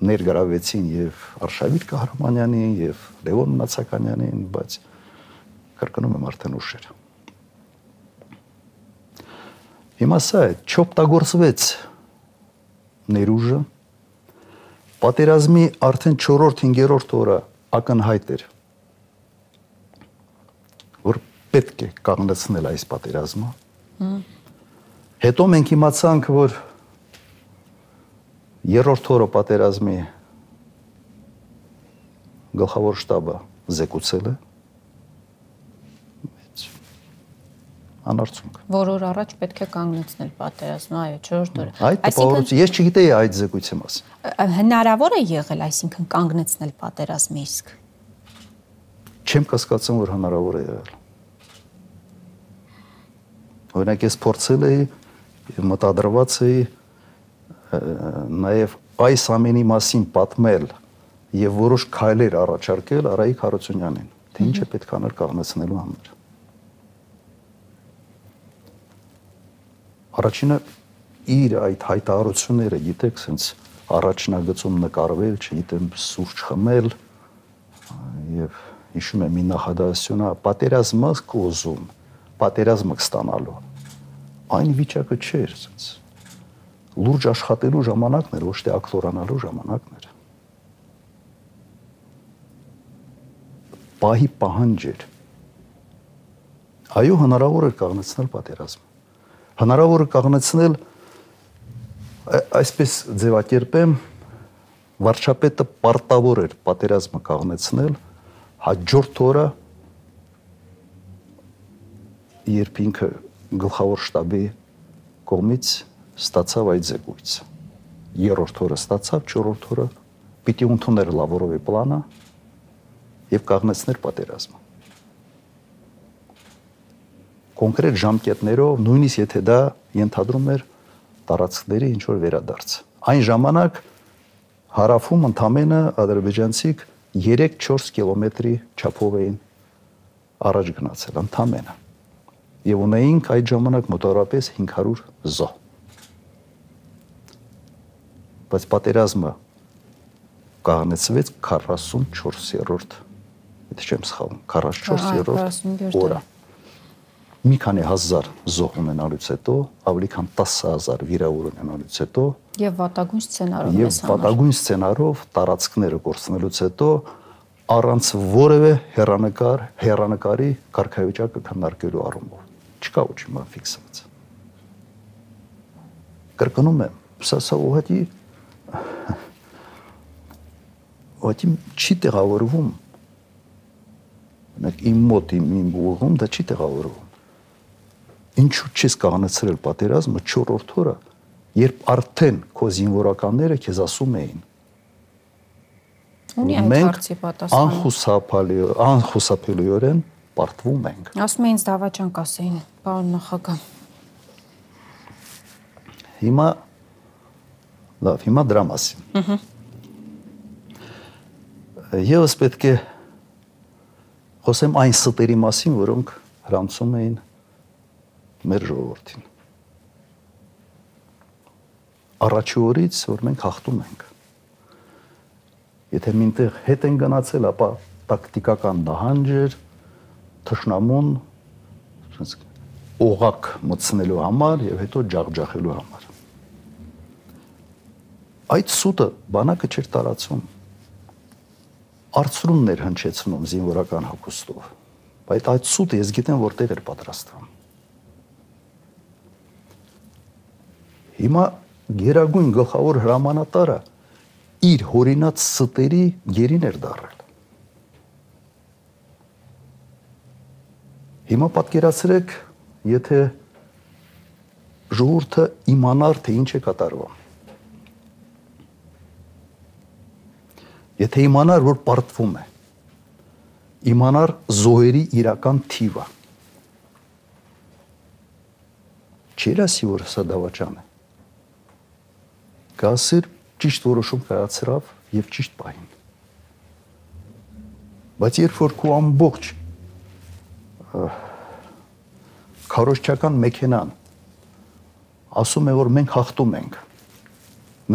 Ներգրավեցին եւ Արշավիր Կահրամանյանին եւ Լևոն Մնացականյանին, բայց կրկնում եմ արդեն ուշ էր։ Հիմա սա է, չօգտագործվեց ներուժը, պատերազմի արդեն 4-5-րդ օրը ակնհայտ էր, որ պետք է կանգնեցնել այս պատերազմը։ Հետո մենք իմացանք, որ երրորդ օրը պատերազմի գլխավոր շտաբը զեկուցել է, անարդյունք։ Որ օր առաջ պետք է կանգնեցնել պատերազմը, այո, 4 օրը։ Այդ տպավորություն, ես չգիտեի այդ զեկույցի մասին։ Հնարավոր է եղել, այսինքն կանգնեցնել պատերազմը իսկ։ Չեմ կասկածում, որ հնարավոր է եղել։ Օրինակ ես փորձել էի եւ մտադրված էի նաեւ այս ամենի մասին պատմել եւ որոշ քայլեր առաջարկել Արայիկ Հարությունյանին, թե ինչ է պետք անել կանգնեցնելու համար։ Առաջինը իր այդ հայտարարությունները, գիտեք, sense առաջնագծում նկարվել, չգիտեմ, սուրճ խմել եւ հիշում եմ մի նախադասությունը, պատերազմը կոզում, պատերազմը կստանալու։ Այն վիճակը չէր, sense լուրջ աշխատելու ժամանակն էր, ոչ թե ակտորանալու ժամանակն էր։ Պահի պահանջ էր։ Այո, հնարավոր էր կանգնեցնել պատերազմը։ Հնարավոր է կանգնեցնել, այսպես ձևակերպեմ, վարչապետը պարտավոր էր պատերազմը կանգնեցնել, հաջորդ օրը, երբ ինքը գլխավոր շտաբի կողմից ստացավ այդ զեկույցը։ Երրորդ օրը ստացավ, 4-րդ օրը պիտի ընդուներ Լավրովի պլանը եւ կանգնեցներ պատերազմը։ Կոնկրետ ժամկետներով, նույնիսկ եթե դա ենթադրում էր տարածքների ինչ որ վերադարձ։ Այն ժամանակ հարավում ընդամենը ադրբեջանցիք 3-4 կիլոմետրի չափով էին առաջ գնացել, ընդամենը։ Եվ ունեինք այդ ժամանակ մոտավորապես 500 զոհ։ Բայց պատերազմը կանգնեցվեց 44-րդ, եթե չեմ սխալվում, 44-րդ օրը։ Մի քանի հազար զոհ ունենալուց հետո, ավելի քան 10,000 վիրավոր ունենալուց հետո եւ վատագույն սցենարով եւ վատագույն սցենարով տարածքները կորցնելուց հետո առանց որևէ հերանեկարի կարգավիճակը քննարկելու առումով չկա ոչինչ բան ֆիքսված։ Կրկնում եմ, սա ուղղակի չի տեղավորվում։ Իմ մոտ իմ ուղղում դա չի տեղավորվում։ Ինչու չես կանգնեցրել պատերազմը 4-րդ օրը, երբ արդեն քո զինվորականները քեզ ասում էին։ Ունի այդ հարցի պատասխանը։ Անխուսափելիորեն պարտվում ենք։ Ասում են ինձ դավաճան կասեին, պարոն նախագահ։ Հիմա դրա մասին։ Եվս պետք է խոսեմ այն ստերի մասին, որոնք հրանցում էին մեր ժողովրդին։ Առաջի օրից, որ մենք հաղթում ենք։ Եթե մինտեղ հետ են գնացել, ապա տակտիկական նահանջ էր թշնամուն օղակ մտցնելու համար եւ հետո ջախջախելու համար։ Այդ սուտը բանակը չէր տարածում։ Արծրունն էր հնչեցնում զինվորական հագուստով։ Բայց այդ սուտը ես գիտեմ որտեղ էր պատրաստվում։ Հիմա գերագույն գլխավոր հրամանատարը իր հորինած ստերի գերին էր դարել։ Հիմա պատկերացրեք, եթե ժողովուրդը իմանար, թե ինչ է կատարվում։ Եթե իմանար, որ պարտվում է, իմանար զոհերի իրական թիվը։ Չէր ասի, որ սա դավաճան է։ Կասեր ճիշտ որոշում կայացրավ եւ ճիշտ պահին։ Բայց երբ որ քո ամբողջ քարոզչական մեքենան ասում է, որ մենք հաղթում ենք,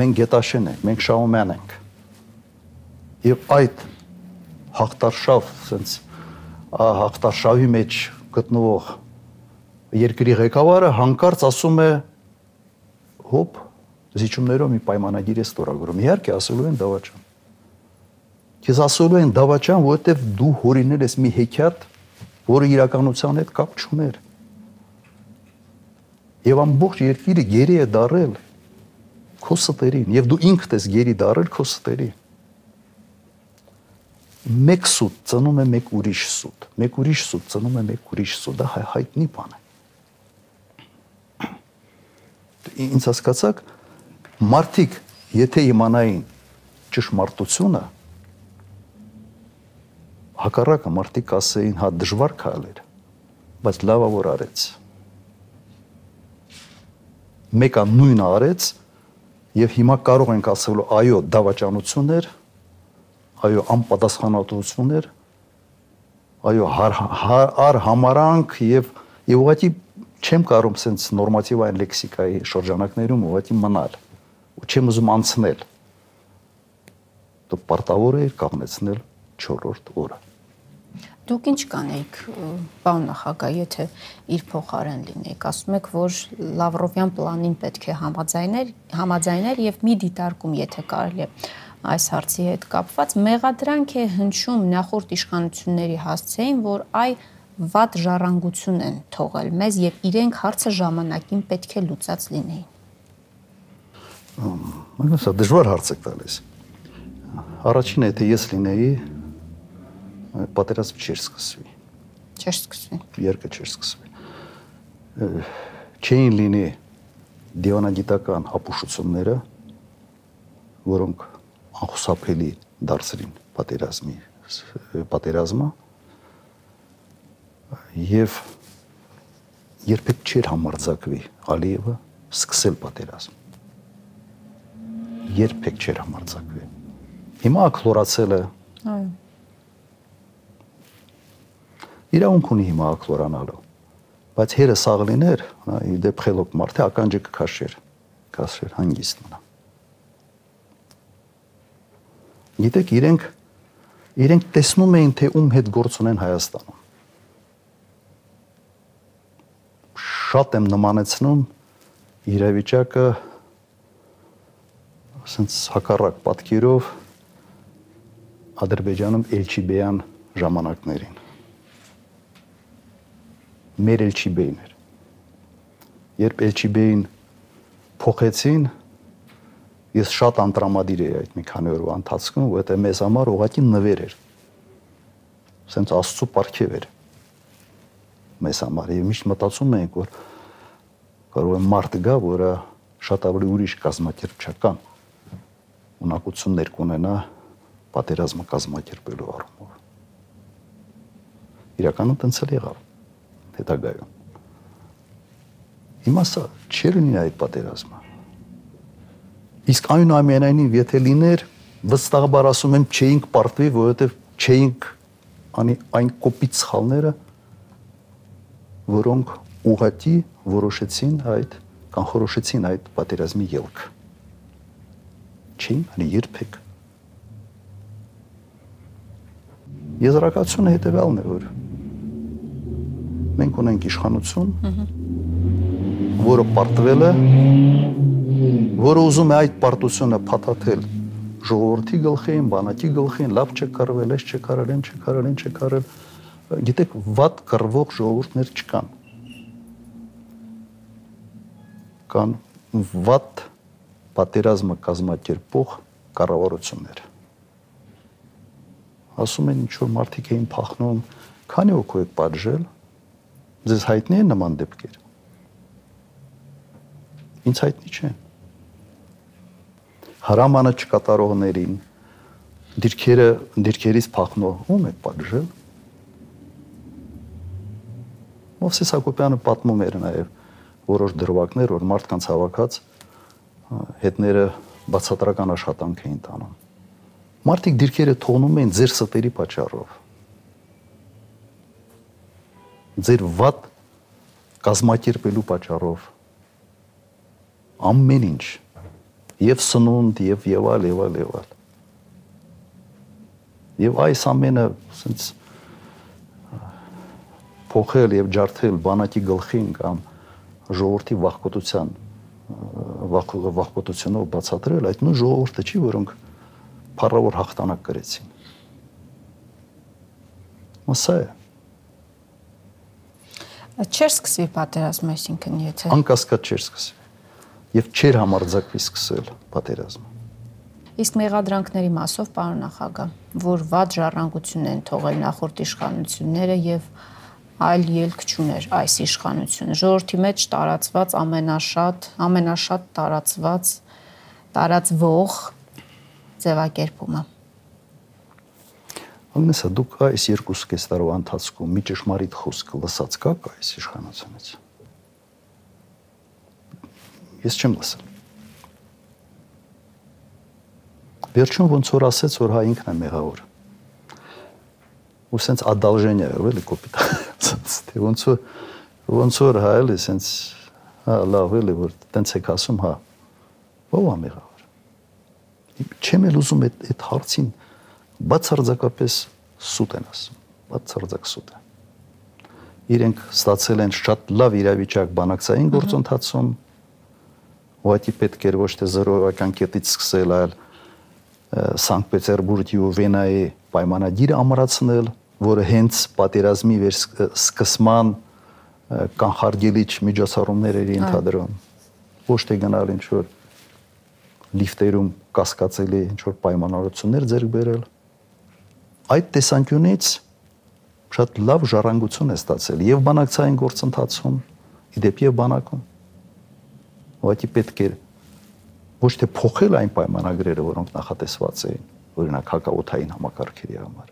մենք Գետաշեն ենք, մենք Շահումյան ենք, եւ այդ հաղթարշավ, ասենց հաղթարշավի մեջ գտնվող երկրի ղեկավարը հանկարծ ասում է, հոպ, զիջումներով մի պայմանագիր է ստորագրում։ Իհարկե ասելու են դավաճան։ Քեզ ասելու են դավաճան, որովհետեւ դու հորինել ես մի հեքիաթ, որը իրականության հետ կապ չուներ։ Եվ ամբողջ երկիրը գերի է դարել քո ստերին, եւ դու ինքդ ես գերի դարել քո ստերին։ Մեկ սուտ ծնում է մեկ ուրիշ սուտ, մեկ ուրիշ սուտ ծնում է մեկ ուրիշ սուտ, դա հայտնի բան է։ Ինձ հասկացաք, մարդիկ, եթե իմանային ճշմարտությունը, հակառակը մարդիկ ասեին, հա դժվար քայլեր, բայց լավա որ արեց։ Մեկը նույնը արեց, եւ հիմա կարող ենք ասել, այո, դավաճանություն էր, այո, անպատասխանատվություն էր, այո, արհամարանք եւ ուղղակի չեմ կարող sense նորմատիվային լեքսիկայի շրջանակներում ուղղակի մնալ ու չեմ ուզում անցնել։ Դու պարտավոր ես կանգնեցնել 4-րդ օրը։ Դուք ինչ կանեիք, պարոն նախագահ, եթե իր փոխարեն լինեիք, ասում եք, որ Լավրովյան պլանին պետք է համաձայներ եւ մի դիտարկում, եթե կարելի է այս հարցի հետ կապված, մեղադրանք է հնչում նախորդ իշխանությունների հասցեին, որ վատ ժառանգություն են թողել մեզ եւ իրենք հարցը ժամանակին պետք է լուծած լինեին։ Սա դժվար հարց եք տալիս։ Առաջինը, եթե ես լինեի, պատերազմ չէր սկսվի։ Չէր սկսվի։ Երկը չէր սկսվի։ Չէին լինի դիվանագիտական ապուշությունները, որոնք անխուսափելի դարձրին պատերազմը, եւ երբեք չէր համարձակվի Ալիևը սկսել պատերազմ։ Երբեք չէր համարձակվի։ Հիմա ակլորացել է։ Այո։ Իրավունք ունի հիմա ակլորանալու, բայց հերը սաղ լիներ, դեպ խելոք մարդ է ականջը կքաշեր, հանգիստ մնա։ Գիտեք, իրենք տեսնում էին, թե ում հետ գործ ունեն Հայաստանում։ Շատ եմ նմանեցնում իրավիճակը ասենց հակառակ պատկերով Ադրբեջանում Էլչիբեյան ժամանակներին։ Մեր Էլչիբեին էր։ Երբ Էլչիբեին փոխեցին, ես շատ անտրամադիր էի այդ մի քանի օրվա ընթացքում, որովհետև մեզ համար ուղղակի նվեր էր։ Սենց Աստծո պարգև էր մեզ համար եւ միշտ մտածում ենք, որ կարող է մարդ գա, որը շատ ավելի ուրիշ կազմակերպչական ունակություններ կունենա պատերազմը կազմակերպելու առումով։ իրականում տենց էլ եղավ հետագայում։ Հիմա սա չի լինի այդ պատերազմը։ Իսկ այնուամենայնիվ եթե լիներ, վստահաբար ասում եմ, չէինք պարտվի, որովհետև չէինք անի այն կոպիտ սխալները, որոնք ուղղակի որոշեցին այդ պատերազմի ելքը։ Չէին անի երբեք։ Եզրակացությունը հետևյալն է, որ մենք ունենք իշխանություն, որը պարտվել է, որը ուզում է այդ պարտությունը փաթաթել ժողովրդի գլխին, բանակի գլխին, լավ չեք կարվել, այս չեք արել, այն չեք արել, այն չեք արել։ Գիտեք, վատ կռվող ժողովուրդներ չկան։ Կան վատ պատերազմը կազմակերպող կառավարություններ։ Ասում են ինչ որ մարդիկ էին փախնում, քանի օգու եք պատժել, ձեզ հայտնի է նման դեպքեր։ Ինձ հայտնի չեն։ Հրամանը չկատարողներին, դիրքերից փախնող ում եք պատժել։ Մովսես Հակոբյանը պատմում էր նաև որոշ դրվագներ, որ մարդկանց հավաքած հետները բացատրական աշխատանք էին տանում։ Մարդիկ դիրքերը թողնում էին ձեր ստերի պատճառով։ Ձեր վատ կազմակերպելու պատճառով։ Ամեն ինչ։ Եվ սնունդ, եւ այլ։ Եվ այս ամենը ասենց փոխել եւ ջարդել բանակի գլխին կամ ժողովրդի վախկոտությունով բացատրել, այդ նույն ժողովուրդը չի, որոնք փառավոր հաղթանակ կրեցին։ Սա է։ Չէր սկսվի պատերազմը, այսինքն եթե անկասկած չէր սկսվի եւ չէր համարձակվի սկսել պատերազմը։ Իսկ մեղադրանքների մասով, պարոն նախագահ, որ վատ ժառանգություն են թողել նախորդ իշխանությունները եւ այլ ելք չուներ այս իշխանությունը։ Ժողովրդի մեջ տարածված ամենաշատ տարածվող ձևակերպումը։ Անգնեսա դուք այս 2.5 տարվա ընթացքում մի ճշմարիտ խոսք լսած կաք այս իշխանությունից։ Ես չեմ լսել։ Վերջում ոնց որ ասեց, որ հա ինքն է մեղավոր։ Ու սենց ադալժենիա է, էլի կոպիտ։ Ոնց որ հա էլի սենց հա լավ էլի որ տենց եք ասում, հա ո՞վ է մեղավոր։ Չեմ էլ ուզում այդ հարցին բացարձակապես սուտ են ասում, բացարձակ սուտ է։ Իրենք ստացել են շատ լավ իրավիճակ բանակցային գործընթացում, ուղղակի պետք էր ոչ թե զրոյական կետից սկսել, այլ Սանկտ Պետերբուրգի ու Վենայի պայմանագիրը ամրացնել, որը հենց պատերազմի սկսման կանխարգելիչ միջոցառումներ էր ենթադրում։ Ոչ թե գնալ ինչ որ լիֆտերում կասկածելի ինչ որ պայմանավորություններ ձեռք բերել։ Այդ տեսանկյունից շատ լավ ժառանգություն է ստացել եւ բանակցային գործընթացում, իդեպ եւ բանակում։ Ուղղակի պետք էր ոչ թե փոխել այն պայմանագրերը, որոնք նախատեսված էին, օրինակ հակաօդային համակարգերի համար,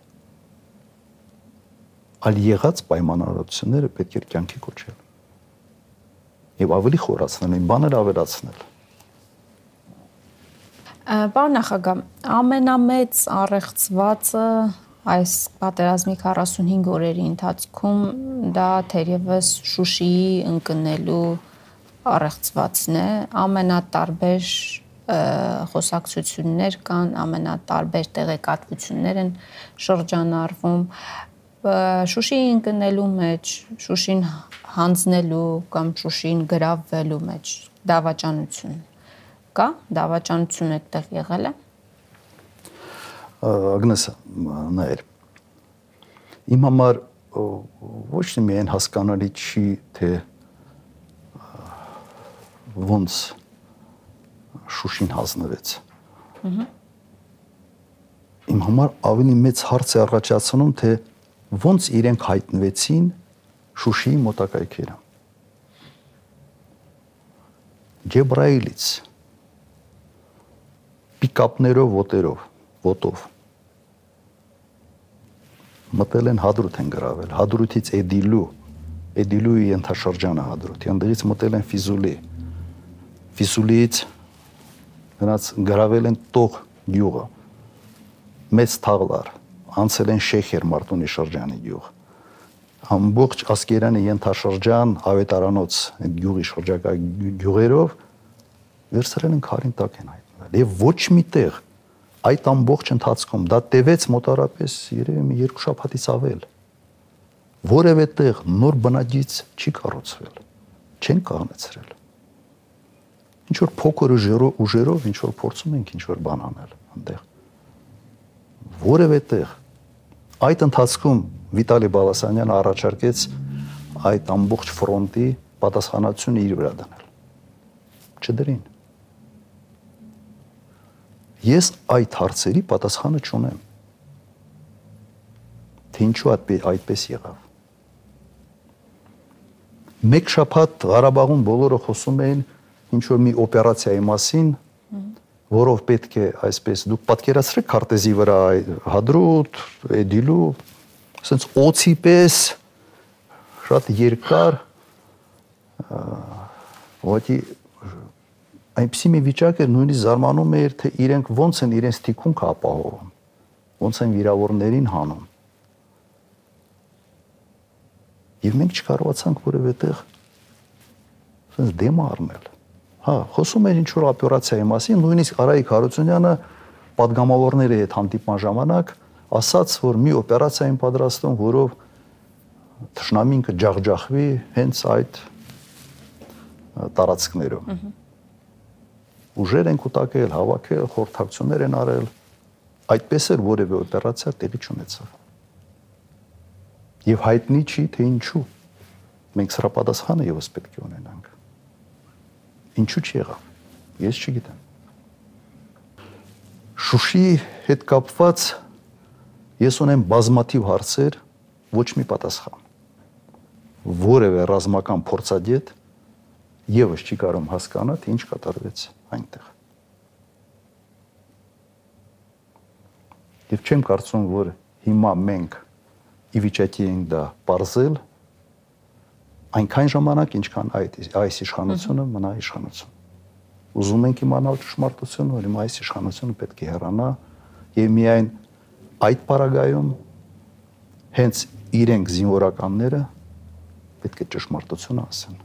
այլ եղած պայմանավորությունները պետք էր կյանքի կոչել եւ ավելի խորացնել, այն բաներ ավելացնել։ Պարոն նախագահ, ամենամեծ առեղծվածը այս պատերազմի 45 օրերի ընթացքում դա թերևս Շուշիի ընկնելու առեղծվածն է, ամենատարբեր խոսակցություններ կան, ամենատարբեր տեղեկատվություններ են շրջանառվում Շուշիի ընկնելու մեջ, Շուշին հանձնելու կամ Շուշին գրավվելու մեջ դավաճանություն կա, դավաճանություն այդտեղ եղել է։ Ագնեսա, նայր, իմ համար ոչ թե միայն հասկանալի չի, թե ոնց Շուշին հանձնվեց։ Իմ համար ավելի մեծ հարց է առաջացնում, թե ոնց իրենք հայտնվեցին Շուշիի մոտակայքերը։ Ջեբրայիլից պիկապներով, ոտով մտել են Հադրութ են գրավել, Հադրութից Էդիլուի ենթաշրջանը Հադրութի, այնտեղից մտել են Ֆիզուլի, Ֆիզուլիից նրանց գրավել են Տող գյուղը, մեծ թաղլար, անցել են Շեխեր Մարտունի շրջանի գյուղ, ամբողջ Ասկերանի ենթաշրջան Ավետարանոց այդ գյուղի շրջակա գյուղերով վերցրել են քարին տակ են հայտնվել եւ ոչ մի տեղ այդ ամբողջ ընթացքում դա տևեց մոտարապես երևի մի 2 շաբաթից ավել որևէ տեղ նոր բնակիչ չի կառուցվել չեն կանգնեցրել ինչ որ փոքր ուժերով ինչ որ փորձում ենք ինչ որ բան անել այնտեղ որևէ տեղ այդ ընթացքում Վիտալի Բալասանյանը առաջարկեց այդ ամբողջ ֆրոնտի պատասխանատվությունը իր վրա դնել չդրին Ես այդ հարցերի պատասխանը չունեմ թե ինչու այդպես եղավ Մեկ շաբաթ Ղարաբաղում բոլորը խոսում էին ինչ որ մի օպերացիայի մասին որով պետք է այսպես դուք պատկերացրեք քարտեզի վրա Հադրութ, Էդիլու ասենց օծի պես շատ երկար ուղղակի այնպիսի մի վիճակ էր նույնիսկ զարմանում էր թե իրենք ոնց են իրենց թիկունքը ապահովում ոնց են վիրավորներին հանում եւ մենք չկարողացանք որևէ տեղ ասենց դեմ առնել հա խոսում էր ինչ որ օպերացիայի մասին նույնիսկ Արայիկ Հարությունյանը падգամավորների հետ հանդիպման ժամանակ ասաց որ մի օպերացիա են պատրաստում որով թշնամին կջախջախվի հենց այդ տարածքներում ուժեր են կուտակել, հավաքել, խորհրդակցություններ են արել, այդպես էր որևէ օպերացիա տեղի չունեցավ։ Եվ հայտնի չի, թե ինչու։ Մենք սրա պատասխանը եւս պետք է ունենանք։ Ինչու չեղավ։ Ես չգիտեմ։ Շուշիի հետ կապված ես ունեմ բազմաթիվ հարցեր, ոչ մի պատասխան։ Որևէ ռազմական փորձագետ եւս չի կարող հասկանալ, թե ինչ կատարվեց այնտեղ։ Եվ չեմ կարծում, որ հիմա մենք ի վիճակի ենք դա պարզել այնքան ժամանակ, ինչքան այս իշխանությունը մնա իշխանություն։ Ուզում ենք իմանալ ճշմարտությունը, որ այս իշխանությունը պետք է հեռանա եւ միայն այդ պարագայում հենց իրենք զինվորականները պետք է ճշմարտությունը ասեն։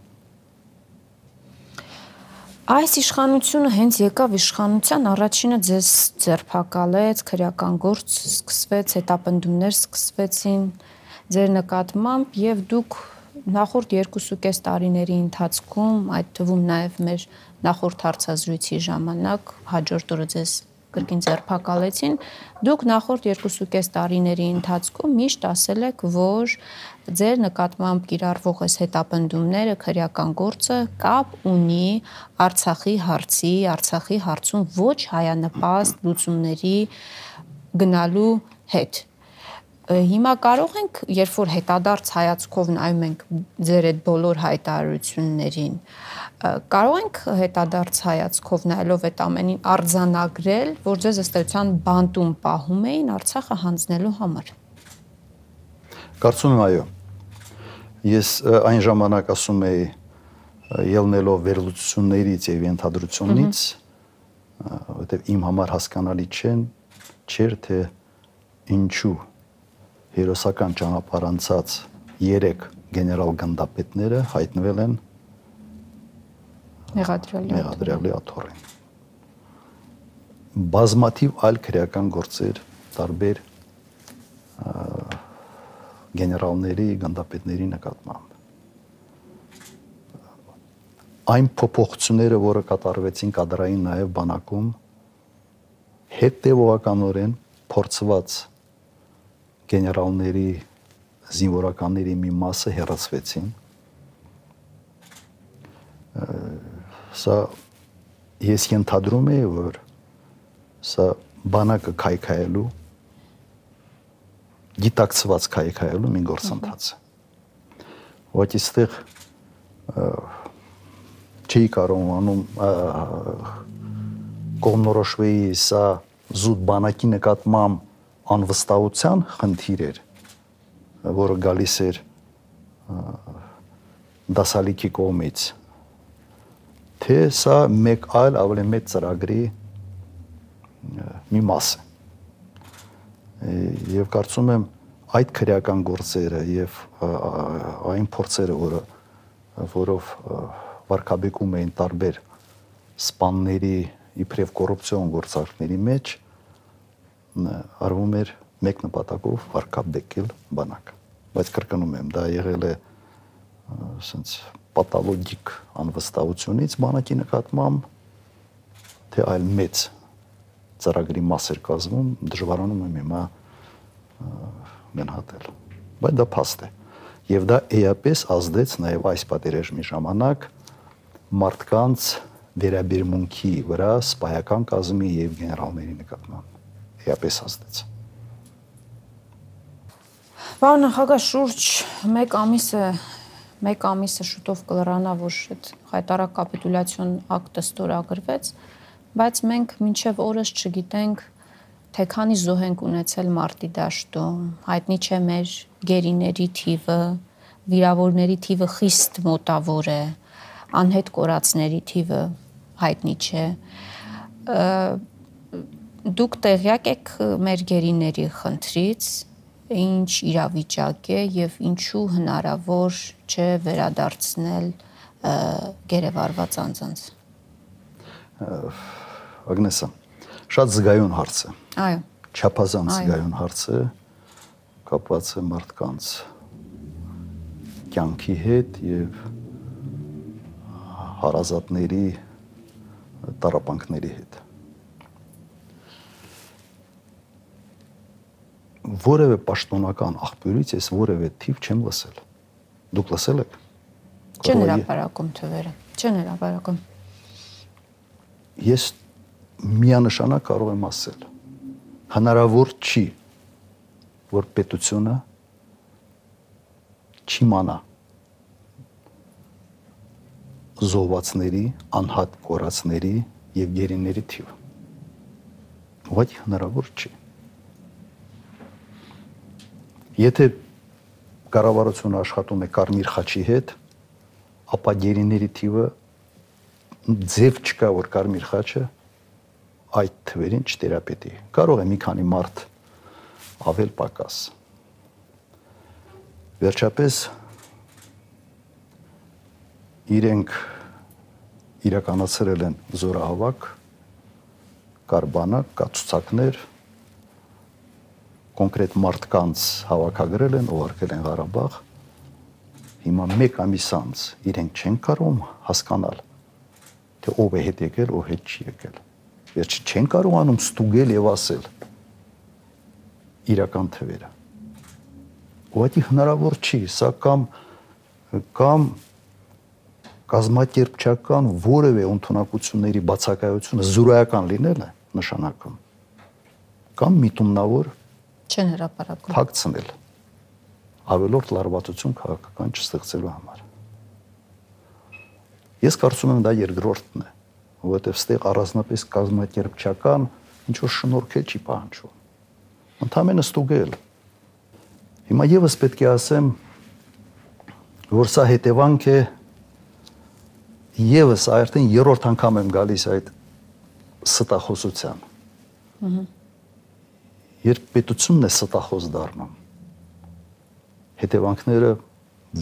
Այս իշխանությունը հենց եկավ իշխանության առաջինը ձեզ ձերբակալեց, քրեական գործ սկսվեց, հետապնդումներ սկսվեցին ձեր նկատմամբ եւ դուք նախորդ 2.5 տարիների ընթացքում, այդ թվում նաեւ մեր նախորդ հարցազրույցի ժամանակ հաջորդ օրը ձեզ կրկին ձերբակալեցին, դուք նախորդ 2.5 տարիների ընթացքում միշտ ասել եք, որ ձեր նկատմամբ կիրառվող այս հետապնդումները, քրեական գործը կապ ունի Արցախի հարցում ոչ հայանպաստ լուծումների գնալու հետ։ Հիմա կարող ենք, երբ որ հետադարձ հայացքով նայում ենք ձեր այդ բոլոր հայտարարություններին, կարող ենք հետադարձ հայացքով նայելով այդ ամենին արձանագրել, որ ձեզ ըստ էության բանտում պահում էին Արցախը հանձնելու համար։ Կարծում եմ այո։ Ես այն ժամանակ ասում էի ելնելով վերլուծություններից եւ ենթադրությունից, որտեղ իմ համար հասկանալի չէր թե ինչու հերոսական ճանապարհ անցած 3 գեներալ գնդապետները հայտնվել են Մեղադրյալի աթոռին։ Բազմաթիվ այլ քրեական գործեր տարբեր գեներալների, գնդապետների նկատմամբ։ Այն փոփոխությունները, որը կատարվեցին կադրային նաև բանակում, հետևողականորեն փորձված գեներալների, զինվորականների մի մասը հեռացվեցին։ Սա ես ենթադրում եի, որ սա բանակը քայքայելու, գիտակցված քայքայելու մի գործընթաց է։ Ուղղակի այստեղ չի կարող անում կողմնորոշվեի սա զուտ բանակի նկատմամբ անվստահության խնդիր էր, որը գալիս էր դասալիքի կողմից, թե սա մեկ այլ ավելի մեծ ծրագրի մի մաս է։ Եվ կարծում եմ այդ քրեական գործերը եւ այն փորձերը, որով վարկաբեկում էին տարբեր սպանների իբրև կոռուպցիոն գործարքների մեջ, արվում էր մեկ նպատակով վարկաբեկել բանակը։ Բայց կրկնում եմ, դա եղել է ասենց պաթոլոգիկ անվստահությունից բանակի նկատմամբ, թե այլ մեծ ծրագրի մաս էր կազմում, դժվարանում եմ հիմա գնահատել։ Բայց դա փաստ է։ Եվ դա էապես ազդեց նաև այս պատերազմի ժամանակ մարդկանց վերաբերմունքի վրա սպայական կազմի եւ գեներալների նկատմամբ։ Էապես ազդեց։ Պարոն նախագահ, շուրջ մեկ ամիսը շուտով կլրանա, որ այդ հայտարարակ կապիտուլյացիոն ակտը ստորագրվեց, բայց մենք մինչև օրս չգիտենք, թե քանի զոհ ենք ունեցել մարտի դաշտում, հայտնի չէ մեր գերիների թիվը, վիրավորների թիվը խիստ մոտավոր է, անհետ կորածների թիվը հայտնի չէ։ Դուք տեղյակ եք մեր գերիների խնդրից, ինչ իրավիճակ է եւ ինչու հնարավոր չէ վերադարձնել գերեվարված անձանց։ Ագնեսա, շատ զգայուն հարց է։ Այո։ Չափազանց զգայուն հարց է, կապված է մարդկանց կյանքի հետ եւ հարազատների տառապանքների հետ։ Որևէ պաշտոնական աղբյուրից ես որևէ թիվ չեմ լսել։ Դուք լսել եք։ Չեն հրապարակում թվերը, չեն հրապարակում։ Ես միանշանակ կարող եմ ասել, հնարավոր չի, որ պետությունը չիմանա զոհվածների, անհատ կորածների եւ գերիների թիվը։ Ուղղակի հնարավոր չի։ Եթե կառավարությունը աշխատում է Կարմիր խաչի հետ, ապա գերիների թիվը ձև չկա, որ Կարմիր խաչը այդ թվերին չտերապետի։ Կարող է մի քանի մարդ ավել պակաս։ Վերջապես իրենք իրականացրել են զորահավաք, կար բանակ, կա ցուցակներ, կոնկրետ մարդկանց հավաքագրել են, ուղարկել են Ղարաբաղ։ Հիմա մեկ ամիս անց իրենք չեն կարող հասկանալ, թե ով է հետ եկել, ով հետ չի եկել։ Վերջ չեն կարողանում ստուգել եւ ասել իրական թվերը։ Ուղղակի հնարավոր չի, սա կամ կազմակերպչական որևէ ընդունակությունների բացակայությունը զուրայական լինել է նշանակում, կամ միտումնավոր չեն հրապարակում փակցնել ավելորդ լարվածություն քաղաքական չստեղծելու համար։ Ես կարծում եմ դա երկրորդն է, որովհետև ստեղ առանձնապես կազմակերպչական ինչ որ շնորհքել չի պահանջում։ Ընդհանրապես ստուգել։ Հիմա եւս պետք է ասեմ, որ սա հետևանք է եւս արդեն երրորդ անգամ եմ գալիս այդ ստախոսության։ Երբ պետությունն է ստախոս դառնում, հետևանքները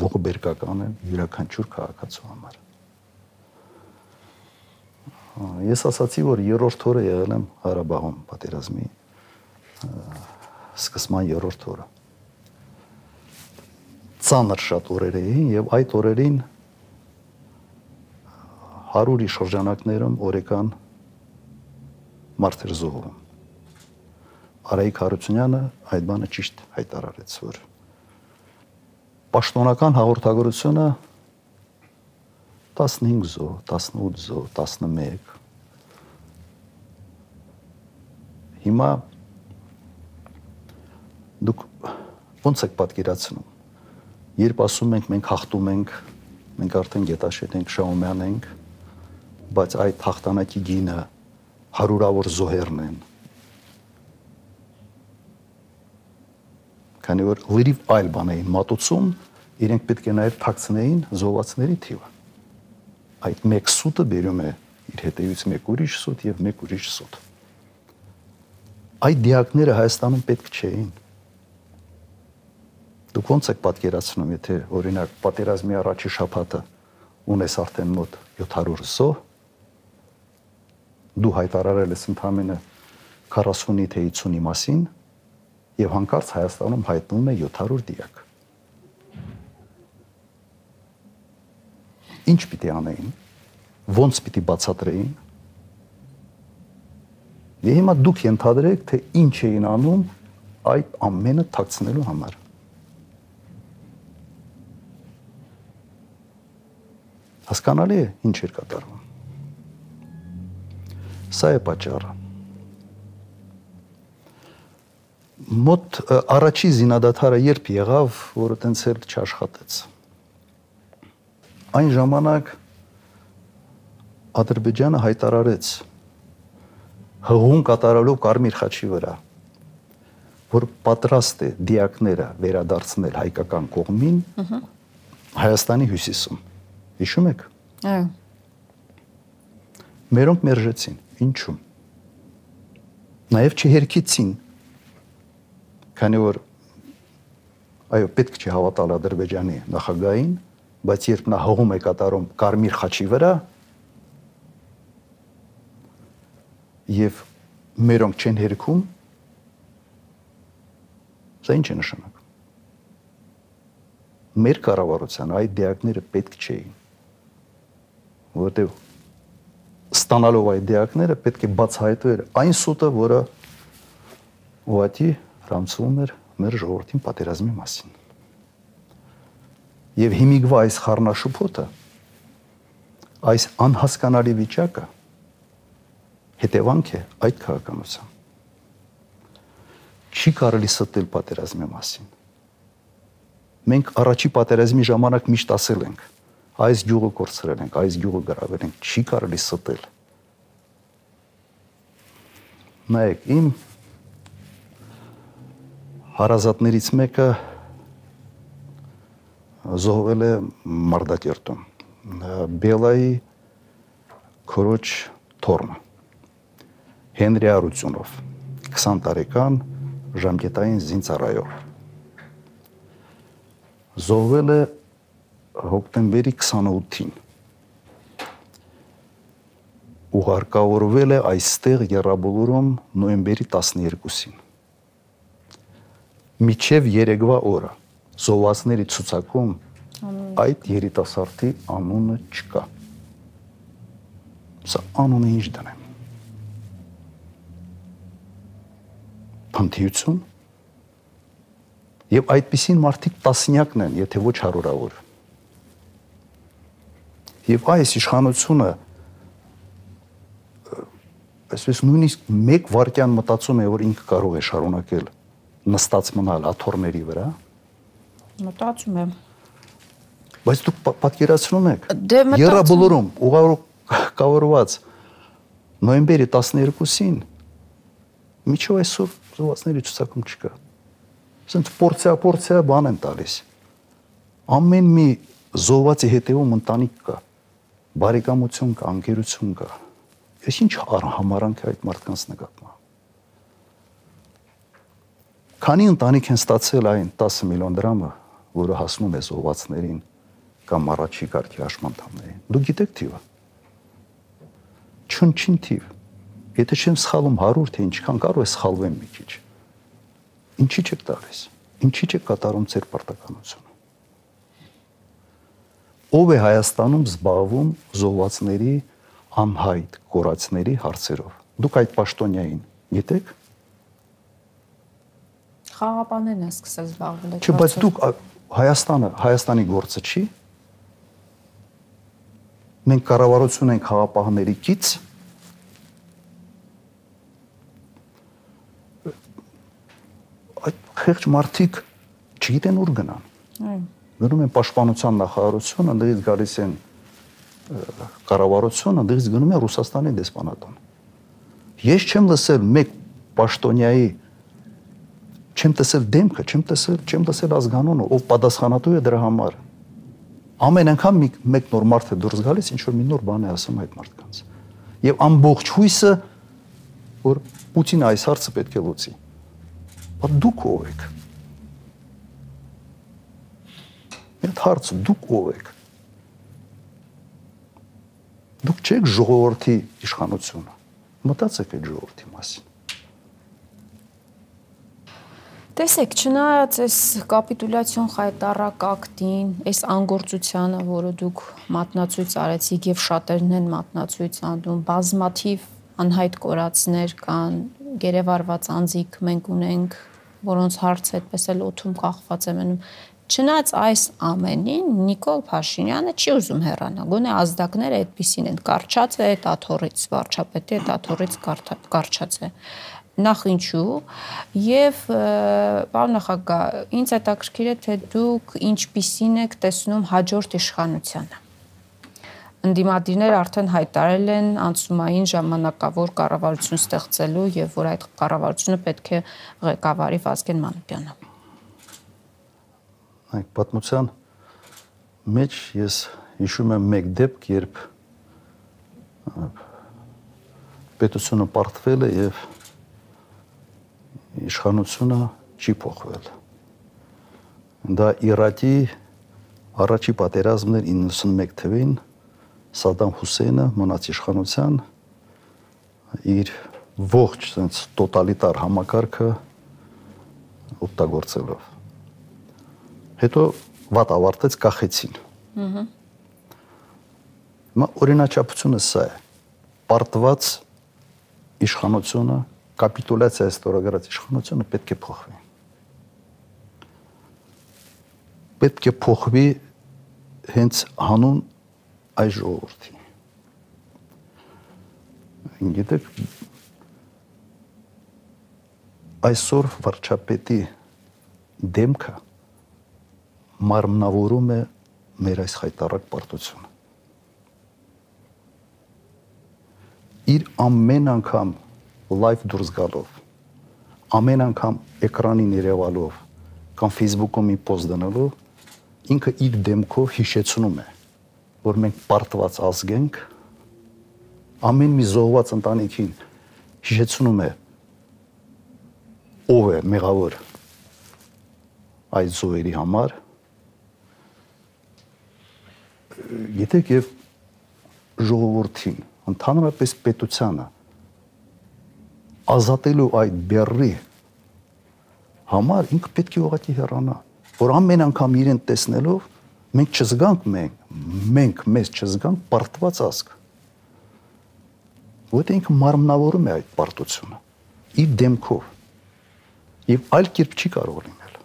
ողբերգական են յուրաքանչյուր քաղաքացու համար։ Ես ասացի, որ երրորդ օրը եղել եմ Ղարաբաղում պատերազմի սկսման երրորդ օրը։ Ծանր շատ օրեր էին եւ այդ օրերին 100-ի շրջանակներում օրեկան մարդեր զոհվում։ Արայիկ Հարությունյանը այդ բանը ճիշտ հայտարարեց, որ պաշտոնական հաղորդագրությունը 15 զոհ, 18 զոհ, 11։ Հիմա դուք ոնց եք պատկերացնում, երբ ասում ենք մենք հաղթում ենք, մենք արդեն Գետաշետ ենք, Շահումյան ենք, բայց այդ հաղթանակի գինը հարյուրավոր զոհերն են, քանի որ լրիվ այլ բան էին մատուցում, իրենք պետք է նաև թաքցնեին զոհվածների թիվը։ Այդ մեկ սուտը բերում է իր հետևից մեկ ուրիշ սուտ եւ մեկ ուրիշ սուտ։ Այդ դիակները Հայաստանում պետք չէին։ Դուք ոնց եք պատկերացնում, եթե օրինակ պատերազմի առաջի շաբաթը ունես արդեն մոտ 700 զոհ, դու հայտարարել ես ընդամենը 40-ի թե 50-ի մասին եւ հանկարծ Հայաստանում հայտնվում է 700 դիակ։ Ինչ պիտի անեին, ոնց պիտի բացատրեին։ Եվ հիմա դուք ենթադրեք, թե ինչ էին անում այդ ամենը թաքցնելու համար։ Հասկանալի է, ինչ էր կատարվում։ Սա է պատճառը։ Մոտ առաջի զինադադարը երբ եղավ, որը տենց էլ չաշխատեց։ Այն ժամանակ Ադրբեջանը հայտարարեց հղում կատարելով Կարմիր խաչի վրա, որ պատրաստ է դիակները վերադարձնել հայկական կողմին Հայաստանի հյուսիսում։ Հիշում եք։ Այո։ Մերոնք մերժեցին։ Ինչու՞։ Նաև չհերքեցին, քանի որ այո, պետք չի հավատալ Ադրբեջանի նախագահին, բայց երբ նա հողում է կատարում Կարմիր խաչի վրա եւ մերոնք չեն հերքում, սա ինչ է նշանակում։ Մեր կառավարության այդ դիակները պետք չէին, որտեղ ստանալով այդ դիակները պետք է բացահայտվեր այն սուտը, որը ուղղակի ռամցվում էր մեր ժողովրդին պատերազմի մասին։ Եվ հիմիկվա այս խառնաշփոթը, այս անհասկանալի վիճակը հետևանք է այդ քաղաքականության։ Չի կարելի ստել պատերազմի մասին։ Մենք առաջի պատերազմի ժամանակ միշտ ասել ենք, այս գյուղը կորցրել ենք, այս գյուղը գրավել ենք, չի կարելի ստել։ Նայեք, իմ հարազատներից մեկը զոհվել է Մարդակերտում, Բելայի քորոջ թորմը, Հենրի Արությունով, 20 տարեկան ժամկետային զինծառայող։ Զոհվել է հոկտեմբերի 28-ին։ Ուղարկավորվել է այստեղ Եռաբոլորում նոյեմբերի 12-ին։ Միջև երեկվա օրը զոհվածների ցուցակում այդ երիտասարդի անունը չկա։ Սա անունը ինչ դնեմ։ Փնթիություն։ Եվ այդպիսին մարդիկ տասնյակն են, եթե ոչ հարյուրավոր։ Եվ այս իշխանությունը այսպես նույնիսկ մեկ վայրկյան մտածում է, որ ինքը կարող է շարունակել նստած մնալ աթոռների վրա։ Մտածում եմ։ Բայց դուք պատկերացնում եք, Եռաբոլորում ուղարկավորված նոյեմբերի 12-ին միջով այսօր զոհվածների ցուցակում չկա։ Ասենց պորցիա բան են տալիս։ Ամեն մի զոհվածի հետևում ընտանիք կա, բարեկամություն կա, անկերություն կա։ Ես ինչ համարանք է այդ մարդկանց նկատմամբ։ Քանի ընտանիք են ստացել այն 10 միլիոն դրամը, որը հասնում է զոհվածներին կամ առաջի կարգի հաշմանդամներին։ Դուք գիտեք թիվը։ Չնչին թիվ։ Եթե չեմ սխալվում 100, թե ինչքան կարող է սխալվեմ մի քիչ։ Ինչի՞ չեք տալիս։ Ինչի՞ չեք կատարում ձեր պարտականությունը։ Ով է Հայաստանում զբաղվում զոհվածների անհայտ կորածների հարցերով։ Դուք այդ պաշտոնյային գիտեք։ Խաղապաններն են սկսել զբաղվել այդ հարցով։ Չէ, բայց դուք Հայաստանի գործը չի։ Մենք կառավարություն ենք խաղապահների կից։ Այդ խեղճ մարդիկ չգիտեն ուր գնան։ Այո։ Գնում են պաշտպանության նախարարություն, ընդդից գալիս են կառավարություն, ընդդից գնում են Ռուսաստանի դեսպանատան։ Ես չեմ լսել մեկ պաշտոնյայի, չեմ տեսել դեմքը, չեմ տեսել ազգանունը, ով պատասխանատու է դրա համար։ Ամեն անգամ մեկ նոր մարդ է դուրս գալիս, ինչ որ մի նոր բան է ասում այդ մարդկանց։ Եվ ամբողջ հույսը, որ Պուտինը այս հարցը պետք է լուծի։ Բայց դուք ով եք։ Այդ հարցը դուք ով եք։ Դուք չեք ժողովրդի իշխանությունը։ Մտածեք այդ ժողովրդի մասին։ Տեսեք, չնայած այս կապիտուլյացիոն խայտառակ ակտին, այս անգործությանը, որը դուք մատնացույց արեցիք եւ շատերն են մատնացույց անում, բազմաթիվ անհայտ կորածներ կան, գերեվարված անձիկ մենք ունենք, որոնց հարցը այդպես էլ օդում կախված է մնում։ Չնայած այս ամենին Նիկոլ Փաշինյանը չի ուզում հեռանալ։ Գոնե ազդակները այդպեսին են, կարճած է այդ աթոռից, վարչապետի այդ աթոռից կարճած է։ Նախ ինչու եւ պարոն նախագահ, ինձ հետաքրքիր է թե դուք ինչպիսին եք տեսնում հաջորդ իշխանությանը։ Ընդդիմադիրները արդեն հայտարարել են անցումային ժամանակավոր կառավարություն ստեղծելու եւ որ այդ կառավարությունը պետք է ղեկավարի Վազգեն Մանուկյանը։ Այդ պատմության մեջ ես հիշում եմ մեկ դեպք, երբ պետությունը պարտվել է եւ իշխանությունը չի փոխվել։ Դա Իրաքի առաջի պատերազմն էր 91 թվականին, Սադամ Հուսեյնը մնաց իշխանության իր ողջ sense տոտալիտար համակարգը օգտագործելով։ Հետո վատ ավարտեց, կախեցին։ Հիմա օրինաչափությունը սա է։ Պարտված իշխանությունը, կապիտուլյացիա ստորագրած իշխանությունը պետք է փոխվի։ Պետք է փոխվի հենց հանուն այս ժողովրդի։ Գիտեք, այսօր վարչապետի դեմքը մարմնավորում է մեր այս խայտառակ պարտությունը։ Իր ամեն անգամ լայվ դուրս գալով, ամեն անգամ էկրանին երևալով կամ Facebook-ում մի պոստ դնելով, ինքը իր դեմքով հիշեցնում է, որ մենք պարտված ազգ ենք, ամեն մի զոհված ընտանիքին հիշեցնում է ով է մեղավոր այդ զոհերի համար։ Գիտեք, եւ ժողովրդին, ընդհանրապես պետությանը ազատելու այդ բեռի համար ինքը պետք է ուղղակի հեռանա, որ ամեն անգամ իրեն տեսնելով մենք չզգանք մենք մեզ չզգանք պարտված ազգ։ Որտեղ ինքը մարմնավորում է այդ պարտությունը իր դեմքով եւ այլ կերպ չի կարող լինել։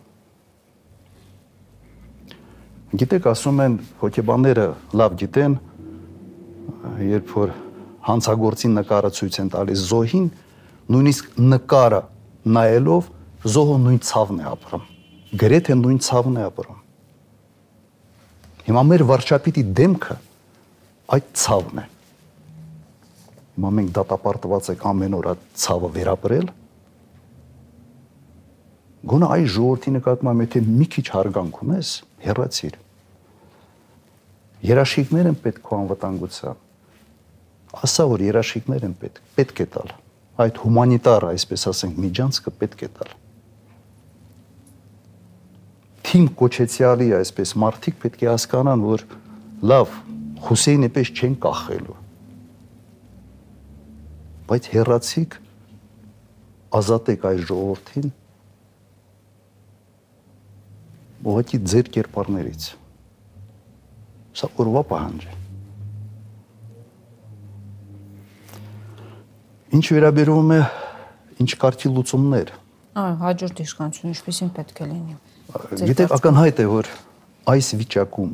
Գիտեք, ասում են հոգեբանները լավ գիտեն, երբ որ հանցագործի նկարը ցույց են տալիս զոհին, նույնիսկ նկարը նայելով զոհը նույն ցավն է ապրում, գրեթե նույն ցավն է ապրում։ Հիմա մեր վարչապետի դեմքը այդ ցավն է։ Հիմա մենք դատապարտված ենք ամեն օր այդ ցավը վերապրել։ Գոնե այս ժողովրդի նկատմամբ եթե մի քիչ հարգանք ունես, հեռացիր։ Երաշխիքներ են պետք քո անվտանգության։ Ասա, որ երաշխիքներ են պետք է տալ։ Այդ հումանիտար, այսպես ասենք, միջանցքը պետք է տալ։ Թիմ կոչեցյալի այսպես մարդիկ պետք է հասկանան, որ լավ, Հուսեյնի պես չեն կախելու։ Բայց հեռացիկ ազատեք այս ժողովրդին ուղղակի ձեր կերպարներից։ Սա օրվա պահանջ է։ Ինչ վերաբերում է ինչ կարգի լուծումներ։ Հաջորդ իշխանություն ինչպեսին պետք է լինի։ Գիտեք, ակնհայտ է, որ այս վիճակում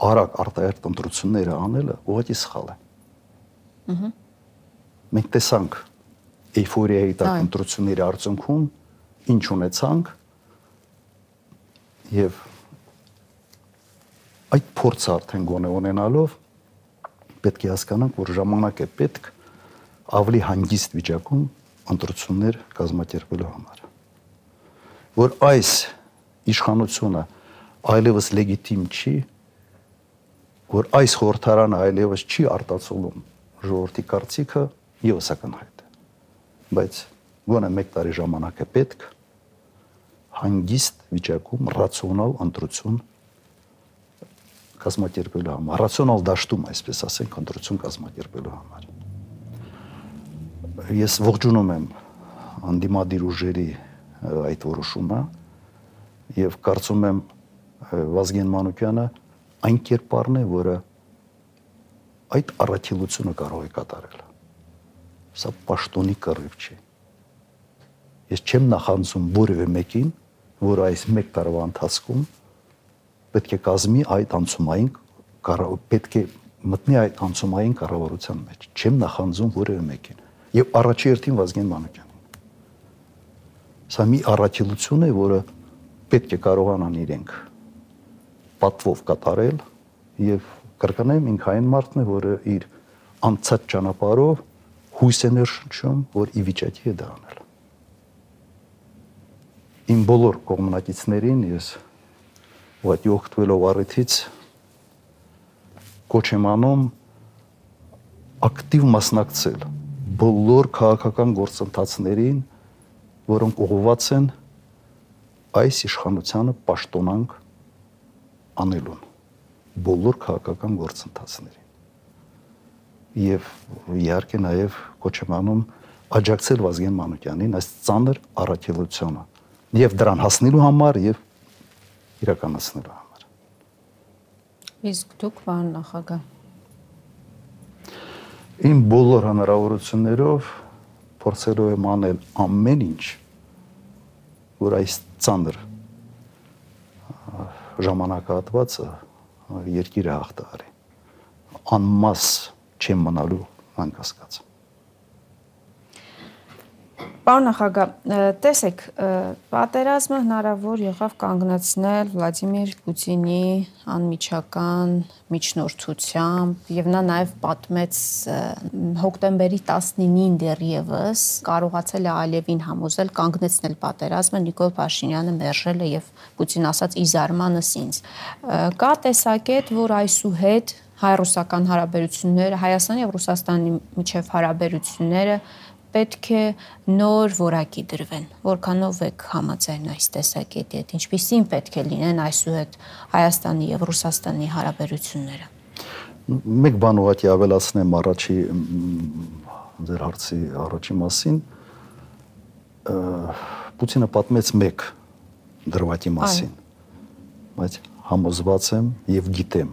արագ արտահերթ ընտրությունները անելը ուղղակի սխալ է։ Մենք տեսանք էյֆորիայի տակ ընտրությունների արդյունքում ինչ ունեցանք եւ այդ փորձը արդեն գոնե ունենալով պետք է հասկանանք, որ ժամանակ է պետք ավելի հանգիստ վիճակում ընտրություններ կազմակերպելու համար։ որ այս իշխանությունը այլևս լեգիտիմ չի, որ այս խորհրդարանը այլևս չի արտացոլում ժողովրդի կարծիքը, եւս ակնհայտ է։ Բայց գոնե 1 տարի ժամանակ է պետք հանգիստ վիճակում ռացիոնալ ընտրություն կազմակերպելու համար, ռացիոնալ դաշտում, այսպես ասենք, ընտրություն կազմակերպելու համար։ Ես ողջունում եմ անդիմադիր ուժերի այդ որոշումը եւ կարծում եմ Վազգեն Մանուկյանը այն կերպարն է, որը այդ առաքելությունը կարող է կատարել։ Սա պաշտոնի կռիվ չի։ Ես չեմ նախանձում որևէ մեկին, որ այս 1 տարվա ընթացքում պետք է կազմի այդ անցումային պետք է մտնի այդ անցումային կառավարության մեջ։ Չեմ նախանձում որևէ մեկին։ Եվ առաջի հերթին Վազգեն Մանուկյանին։ Սա մի առաքելություն է, որը պետք է կարողանան իրենք պատվով կատարել եւ կրկնեմ ինքը այն մարդն է, որը իր անցած ճանապարհով հույս է ներշնչում, որ ի վիճակի է դա անել։ Իմ բոլոր կողմնակիցներին ես ուղղակի օգտվելով առիթից կոչ եմ անում ակտիվ մասնակցել բոլոր քաղաքական գործընթացներին, որոնք ուղղված են այս իշխանությանը պաշտոնանկ անելուն, բոլոր քաղաքական գործընթացներին։ Եվ իհարկե նաև կոչ եմ անում աջակցել Վազգեն Մանուկյանին այս ծանր առաքելությանը եւ դրան հասնելու համար եւ իրականացնելու համար։ Իսկ դուք, պարոն նախագահ, իմ բոլոր հնարավորություններով փորձելու եմ անել ամեն ինչ, որ այս ծանր ժամանակահատվածը երկիրը հաղթահարի։ Անմաս չեմ մնալու անկասկած։ Պարոն նախագահ, տեսեք, պատերազմը հնարավոր եղավ կանգնեցնել Վլադիմիր Պուտինի անմիջական միջնորդությամբ եւ նա նաեւ պատմեց հոկտեմբերի 19-ին դեռևս կարողացել է Ալիևին համոզել կանգնեցնել պատերազմը, Նիկոլ Փաշինյանը մերժել է եւ Պուտին ասաց ի զարմանս ինձ։ Կա տեսակետ, որ այսուհետ հայ-ռուսական հարաբերությունները, Հայաստանի եւ Ռուսաստանի միջև հարաբերությունները պետք է նոր որակի դրվեն, որքանով եք համաձայն այս տեսակետի հետ, ինչպիսին պետք է լինեն այսուհետ Հայաստանի եւ Ռուսաստանի հարաբերությունները։ Մեկ բան ուղղակի ավելացնեմ առաջի ձեր հարցի առաջի մասին, Պուտինը պատմեց մեկ դրվագի մասին, բայց համոզված եմ եւ գիտեմ,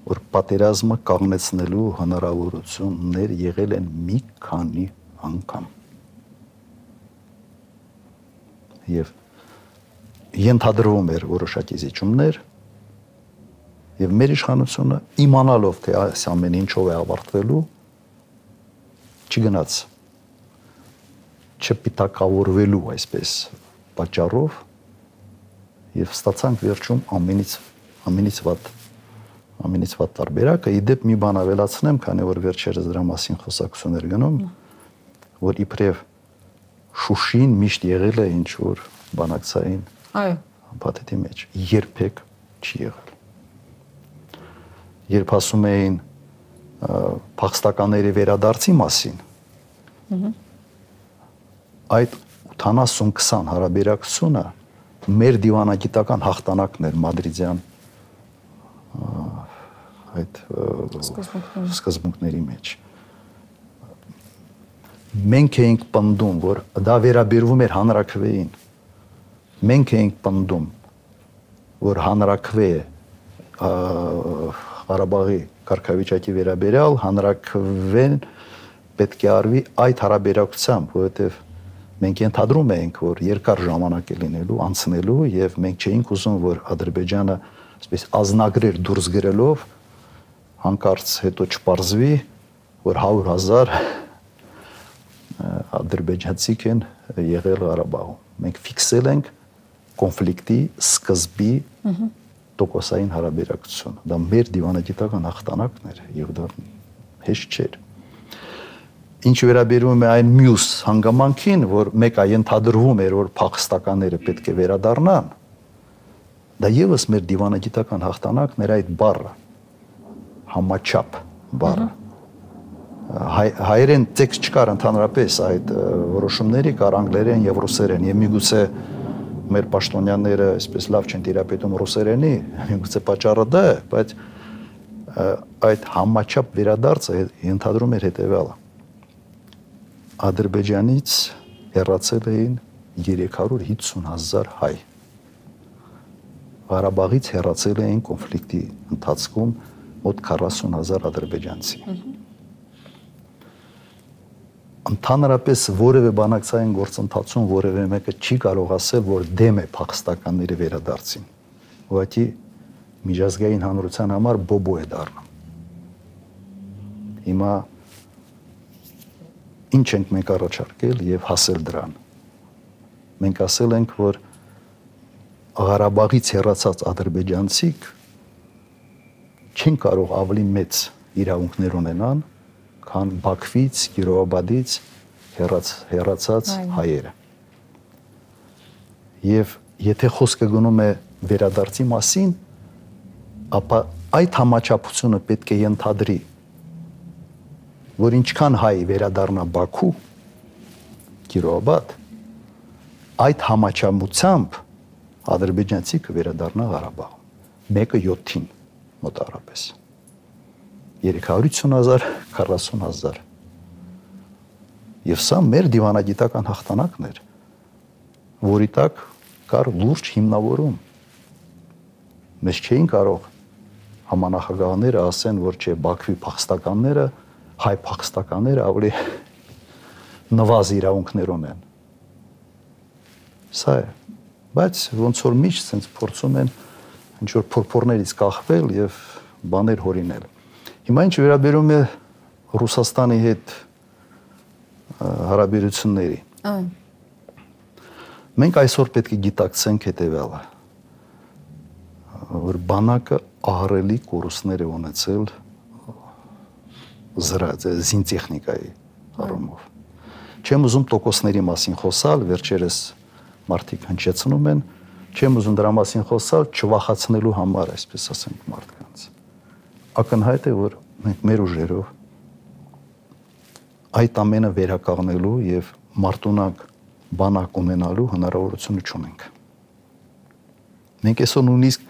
որ պատերազմը կանգնեցնելու հնարավորություններ եղել են մի քանի անգամ։ Եվ ենթադրվում էր որոշակի զիջումներ եւ մեր իշխանությունը իմանալով թե այս ամեն ինչով է ավարտվելու չգնաց չպիտակավորվելու այսպես պատճառով եւ ստացանք վերջում ամենից վատ տարբերակը։ Իդեպ մի բան ավելացնեմ, քանի որ վերջերս դրա մասին խոսակցություններ գնում, որ իբրև Շուշին միշտ եղել է ինչ որ բանակցային փաթեթի մեջ, երբեք չի եղել։ Երբ ասում էին փախստականների վերադարձի մասին, այդ 80-20 հարաբերակցությունը մեր դիվանագիտական հաղթանակն էր մադրիդյան այդ սկզբունքների մեջ։ Մենք էինք պնդում, որ դա վերաբերվում էր հանրաքվեին։ Մենք էինք պնդում, որ հանրաքվե Ղարաբաղի կարգավիճակի վերաբերյալ հանրաքվեն պետք է արվի այդ հարաբերակցությամբ, որովհետև մենք ենթադրում էինք, որ երկար ժամանակ է լինելու, անցնելու եւ մենք չէինք ուզում, որ Ադրբեջանը այսպես ազնագրեր դուրս գրելով հանկարծ հետո չպարզվի, որ 100,000 ադրբեջանցիք են եղել Ղարաբաղում։ Մենք ֆիքսել ենք կոնֆլիկտի սկզբի տոկոսային հարաբերակցությունը։ Դա մեր դիվանագիտական հաղթանակն էր եւ դա հեշտ չէր։ Ինչ վերաբերում է այն մյուս հանգամանքին, որ մեկը ենթադրվում էր, որ փախստականները պետք է վերադառնան, դա եւս մեր դիվանագիտական հաղթանակն էր այդ բառը, համաչափ բառը։ Հայերեն տեքստ չկար ընդհանրապես այդ որոշումների, կար անգլերեն եւ ռուսերեն, եւ միգուցե մեր պաշտոնյաները այսպես լավ չեն տիրապետում ռուսերենի, միգուցե պատճառը դա է, բայց այդ համաչափ վերադարձը ենթադրում էր հետեւյալը. Ադրբեջանից հեռացել էին 350,000 հայ։ Ղարաբաղից հեռացել էին կոնֆլիկտի ընթացքում մոտ 40,000 ադրբեջանցի։ Ընդհանրապես որևէ բանակցային գործընթացում որևէ մեկը չի կարող ասել, որ դեմ է փախստականների վերադարձին։ Ուղղակի միջազգային հանրության համար բոբո է դառնում։ Հիմա ինչ ենք մենք առաջարկել եւ հասել դրան։ Մենք ասել ենք, որ Ղարաբաղից հեռացած ադրբեջանցիք չեն կարող ավելի մեծ իրավունքներ ունենան, քան Բաքվից, Կիրովաբադից հեռացած հայերը։ Եվ եթե խոսքը գնում է վերադարձի մասին, ապա այդ համաչափությունը պետք է ենթադրի, որ ինչքան հայ վերադառնա Բաքու, Կիրովաբադ, այդ համաչափությամբ ադրբեջանցի կվերադառնա Ղարաբաղ։ Մեկը 7-ին մոտավորապես։ 350,000, 40,000։ Եվ սա մեր դիվանագիտական հաղթանակն էր, որի տակ կար լուրջ հիմնավորում։ Մեզ չէին կարող համանախագահները ասեն, որ չէ Բաքվի փախստականները, հայ փախստականները ավելի նվազ իրավունքներ ունեն։ Սա է։ Բայց ոնց որ միշտ sense փորձում են ինչ որ փորփորներից կախվել եւ բաներ հորինել։ Հիմա ինչ վերաբերում է Ռուսաստանի հետ հարաբերությունների։ Մենք այսօր պետք է գիտակցենք հետեւյալը, որ բանակը ահռելի կորուստներ է ունեցել զինտեխնիկայի առումով։ Չեմ ուզում տոկոսների մասին խոսալ, վերջերս մարդիկ հնչեցնում են, չեմ ուզում դրա մասին խոսալ չվախացնելու համար, այսպես ասենք, մարդկանց։ Ակնհայտ է, որ մենք մեր ուժերով այդ ամենը վերականգնելու եւ մարտունակ բանակ ունենալու հնարավորությունը չունենք։ Մենք այսօր նույնիսկ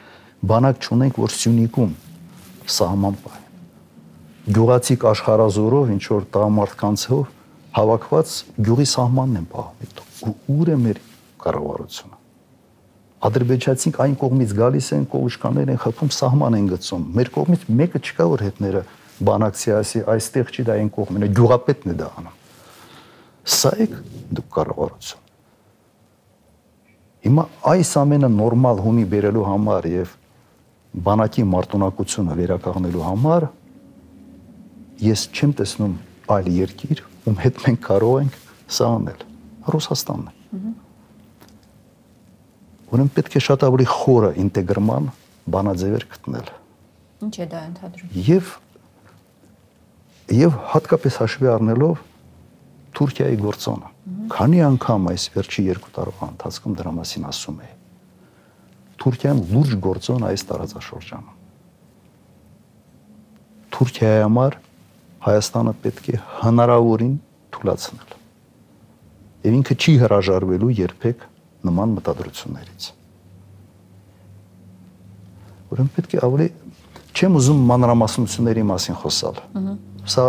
բանակ չունենք, որ Սյունիքում սահման պահի։ Գյուղացիք աշխարհազորով ինչ որ տղամարդկանցով հավաքված գյուղի սահմանն են պահում։ Ուր է մեր կառավարությունը։ Ադրբեջանցիք այն կողմից գալիս են, կողուշկաներ են խփում, սահման են գցում։ Մեր կողմից մեկը չկա, որ հետները բանակցի ասի, այստեղ չի, դա այն կողմն է, գյուղապետն է դա անում։ Սա է դուք կառավարություն։ Հիմա այս ամենը նորմալ հունի բերելու համար եւ բանակի մարտունակությունը վերականգնելու համար ես չեմ տեսնում այլ երկիր, ում հետ մենք կարող ենք սա անել։ Ռուսաստանն է։ Ուրեմն պետք է շատ ավելի խորը ինտեգրման բանաձևեր գտնել։ Ինչ է դա ընդհանրում։ Եվ հատկապես հաշվի առնելով Թուրքիայի գործոնը։ Քանի անգամ այս վերջի 2 տարվա ընթացքում դրա մասին ասում է։ Թուրքիան լուրջ գործոն այս տարածաշրջանում։ Թուրքիայի համար Հայաստանը պետք է հնարավորին թույլատրել։ Եվ ինքը չի հրաժարվելու երբեք նման մտադրություններից։ Ուրեմն պետք է ավելի չեմ ուզում մանրամասնությունների մասին խոսալ։ Սա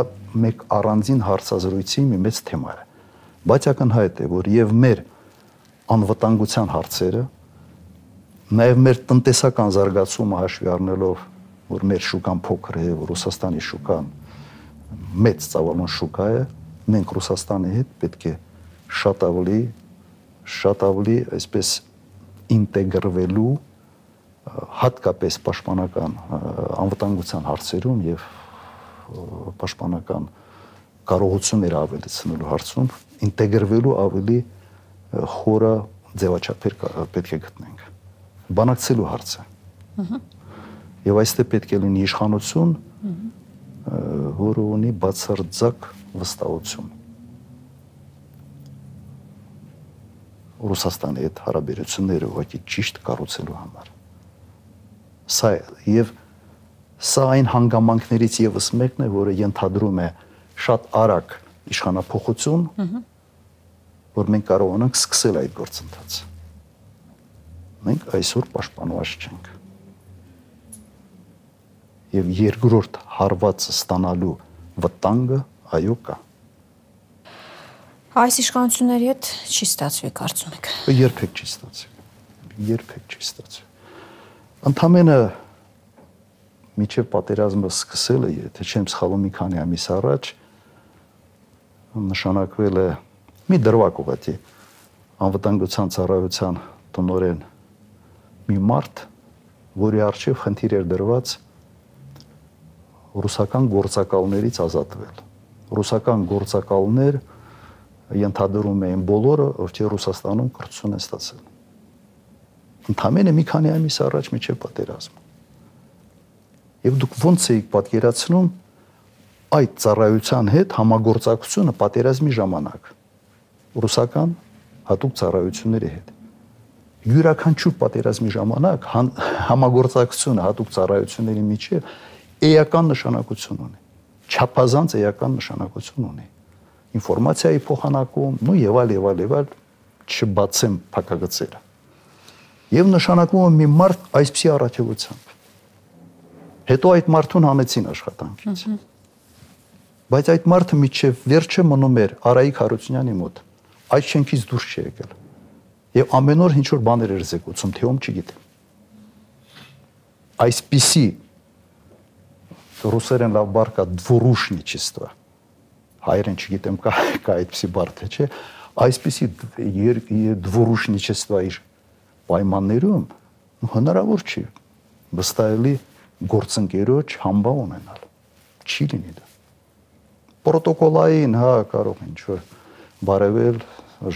մեկ առանձին հարցազրույցի մի մեծ թեմա է։ Բայց ակնհայտ է, որ եւ մեր անվտանգության հարցերը, նաեւ մեր տնտեսական զարգացումը հաշվի առնելով, որ մեր շուկան փոքր է, Ռուսաստանի շուկան մեծ ծավալուն շուկա է, մենք Ռուսաստանի հետ պետք է շատ ավելի այսպես ինտեգրվելու հատկապես պաշտպանական անվտանգության հարցերում եւ պաշտպանական կարողություններ ավելացնելու հարցում ինտեգրվելու ավելի խորը ձևաչափեր պետք է գտնենք։ Բանակցելու հարցը։ Եվ այստեղ պետք է լինի իշխանություն, որը ունի բացարձակ վստահություն։ Ռուսաստանի հետ հարաբերությունները ուղղակի ճիշտ կառուցելու համար։ Սա այն հանգամանքներից եւս մեկն է, որը ենթադրում է շատ արագ իշխանափոխություն, որ մենք կարողանանք սկսել այդ գործընթացը։ Մենք այսօր պաշտպանված չենք։ Եվ երկրորդ հարվածը ստանալու վտանգը այո կա։ Այս իշխանությունների հետ չի ստացվի, կարծում եք։ Երբեք չի ստացվի։ Երբեք չի ստացվի։ Ընդամենը միջև պատերազմը սկսելը, եթե չեմ սխալվում, մի քանի ամիս առաջ նշանակվել է մի դրվագ ուղղակի անվտանգության ծառայության տնօրեն մի մարդ, որի առջև խնդիր էր դրված ռուսական գործակալներից ազատվել։ Ռուսական գործակալներ ենթադրում էին բոլորը, ովքեր Ռուսաստանում կրթություն են ստացել։ Ընդամենը մի քանի ամիս առաջ միջև պատերազմը։ Եվ դուք ո՞նց եք պատկերացնում այդ ծառայության հետ համագործակցությունը պատերազմի ժամանակ ռուսական հատուկ ծառայությունների հետ։ Յուրաքանչյուր պատերազմի ժամանակ համագործակցությունը հատուկ ծառայությունների միջև էական նշանակություն ունի, չափազանց էական նշանակություն ունի։ Ինֆորմացիայի փոխանակում, եւ այլ, չբացեմ փակագծերը։ Եվ նշանակում է մի մարդ այսպիսի առաքելությամբ։ Հետո այդ մարդուն հանեցին աշխատանքից։ Բայց այդ մարդը միջև վերջը մնում էր Արայիկ Հարությունյանի մոտ։ Այդ շենքից դուրս չի եկել։ Եվ ամեն օր ինչ որ բաներ էր զեկուցում, թե ում չգիտեմ։ Այսպիսի ռուսերեն լավ բառ կա դվորուշնիչեստվա։ Հայերեն չգիտեմ կա այդպիսի բառ թե չէ, այսպիսի դվորուշնիչեստվա իր պայմաններում հնարավոր չի վստահելի գործընկերոջ համբա ունենալ։ Չի լինի դա։ Պրոտոկոլային, կարող ինչ որ բարևել,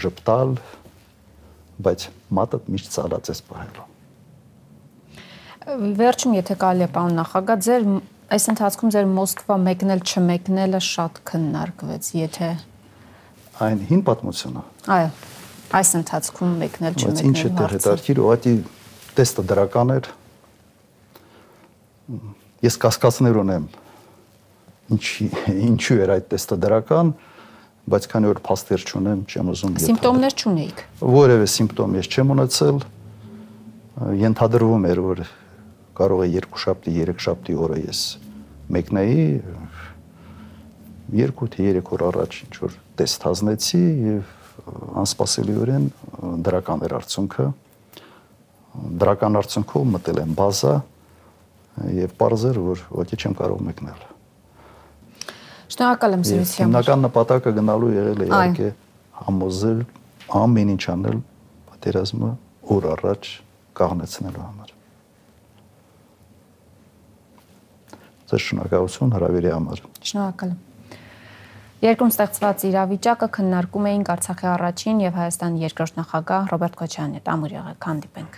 ժպտալ, բայց մատը միշտ ցալած է սպահելու։ Վերջում, եթե կարելի է, պարոն նախագահ, ձեր այս ընթացքում ձեր Մոսկվա մեկնել չմեկնելը շատ քննարկվեց, եթե այն հին պատմությունը։ Այո, այս ընթացքում մեկնել չմեկնել։ Ինչ է հետաքրքիր, ուղղակի տեստը դրական էր։ Ես կասկածներ ունեմ, ինչու էր այդ տեստը դրական, բայց քանի որ փաստեր չունեմ, չեմ ուզում։ Սիմպտոմներ չունեիք։ Որևէ սիմպտոմ ես չեմ ունեցել։ Ենթադրվում էր, որ կարող է 2 շաբթի, 3 շաբթի օրը ես մեկնեի, 2 թե 3 օր առաջ ինչ որ տեստ հանձնեցի եւ անսպասելիորեն դրական էր արդյունքը։ Դրական արդյունքով մտել եմ բազա եւ պարզ էր, որ ոչինչ չեմ կարող մեկնել։ Շնորհակալ եմ զրույցի համար։ Հիմնական նպատակը գնալու եղել է իհարկե համոզել ամեն ինչ անել պատերազմը օր առաջ կաղնեցնելու համար։ Ձեր շնորհակալություն հրավերի համար։ Շնորհակալ եմ։ Երկրում ստեղծված իրավիճակը քննարկում էինք Արցախի առաջին եւ Հայաստանի երկրորդ նախագահ Ռոբերտ Քոչարյանի հետ։ Ամուր եղեք, հանդիպենք։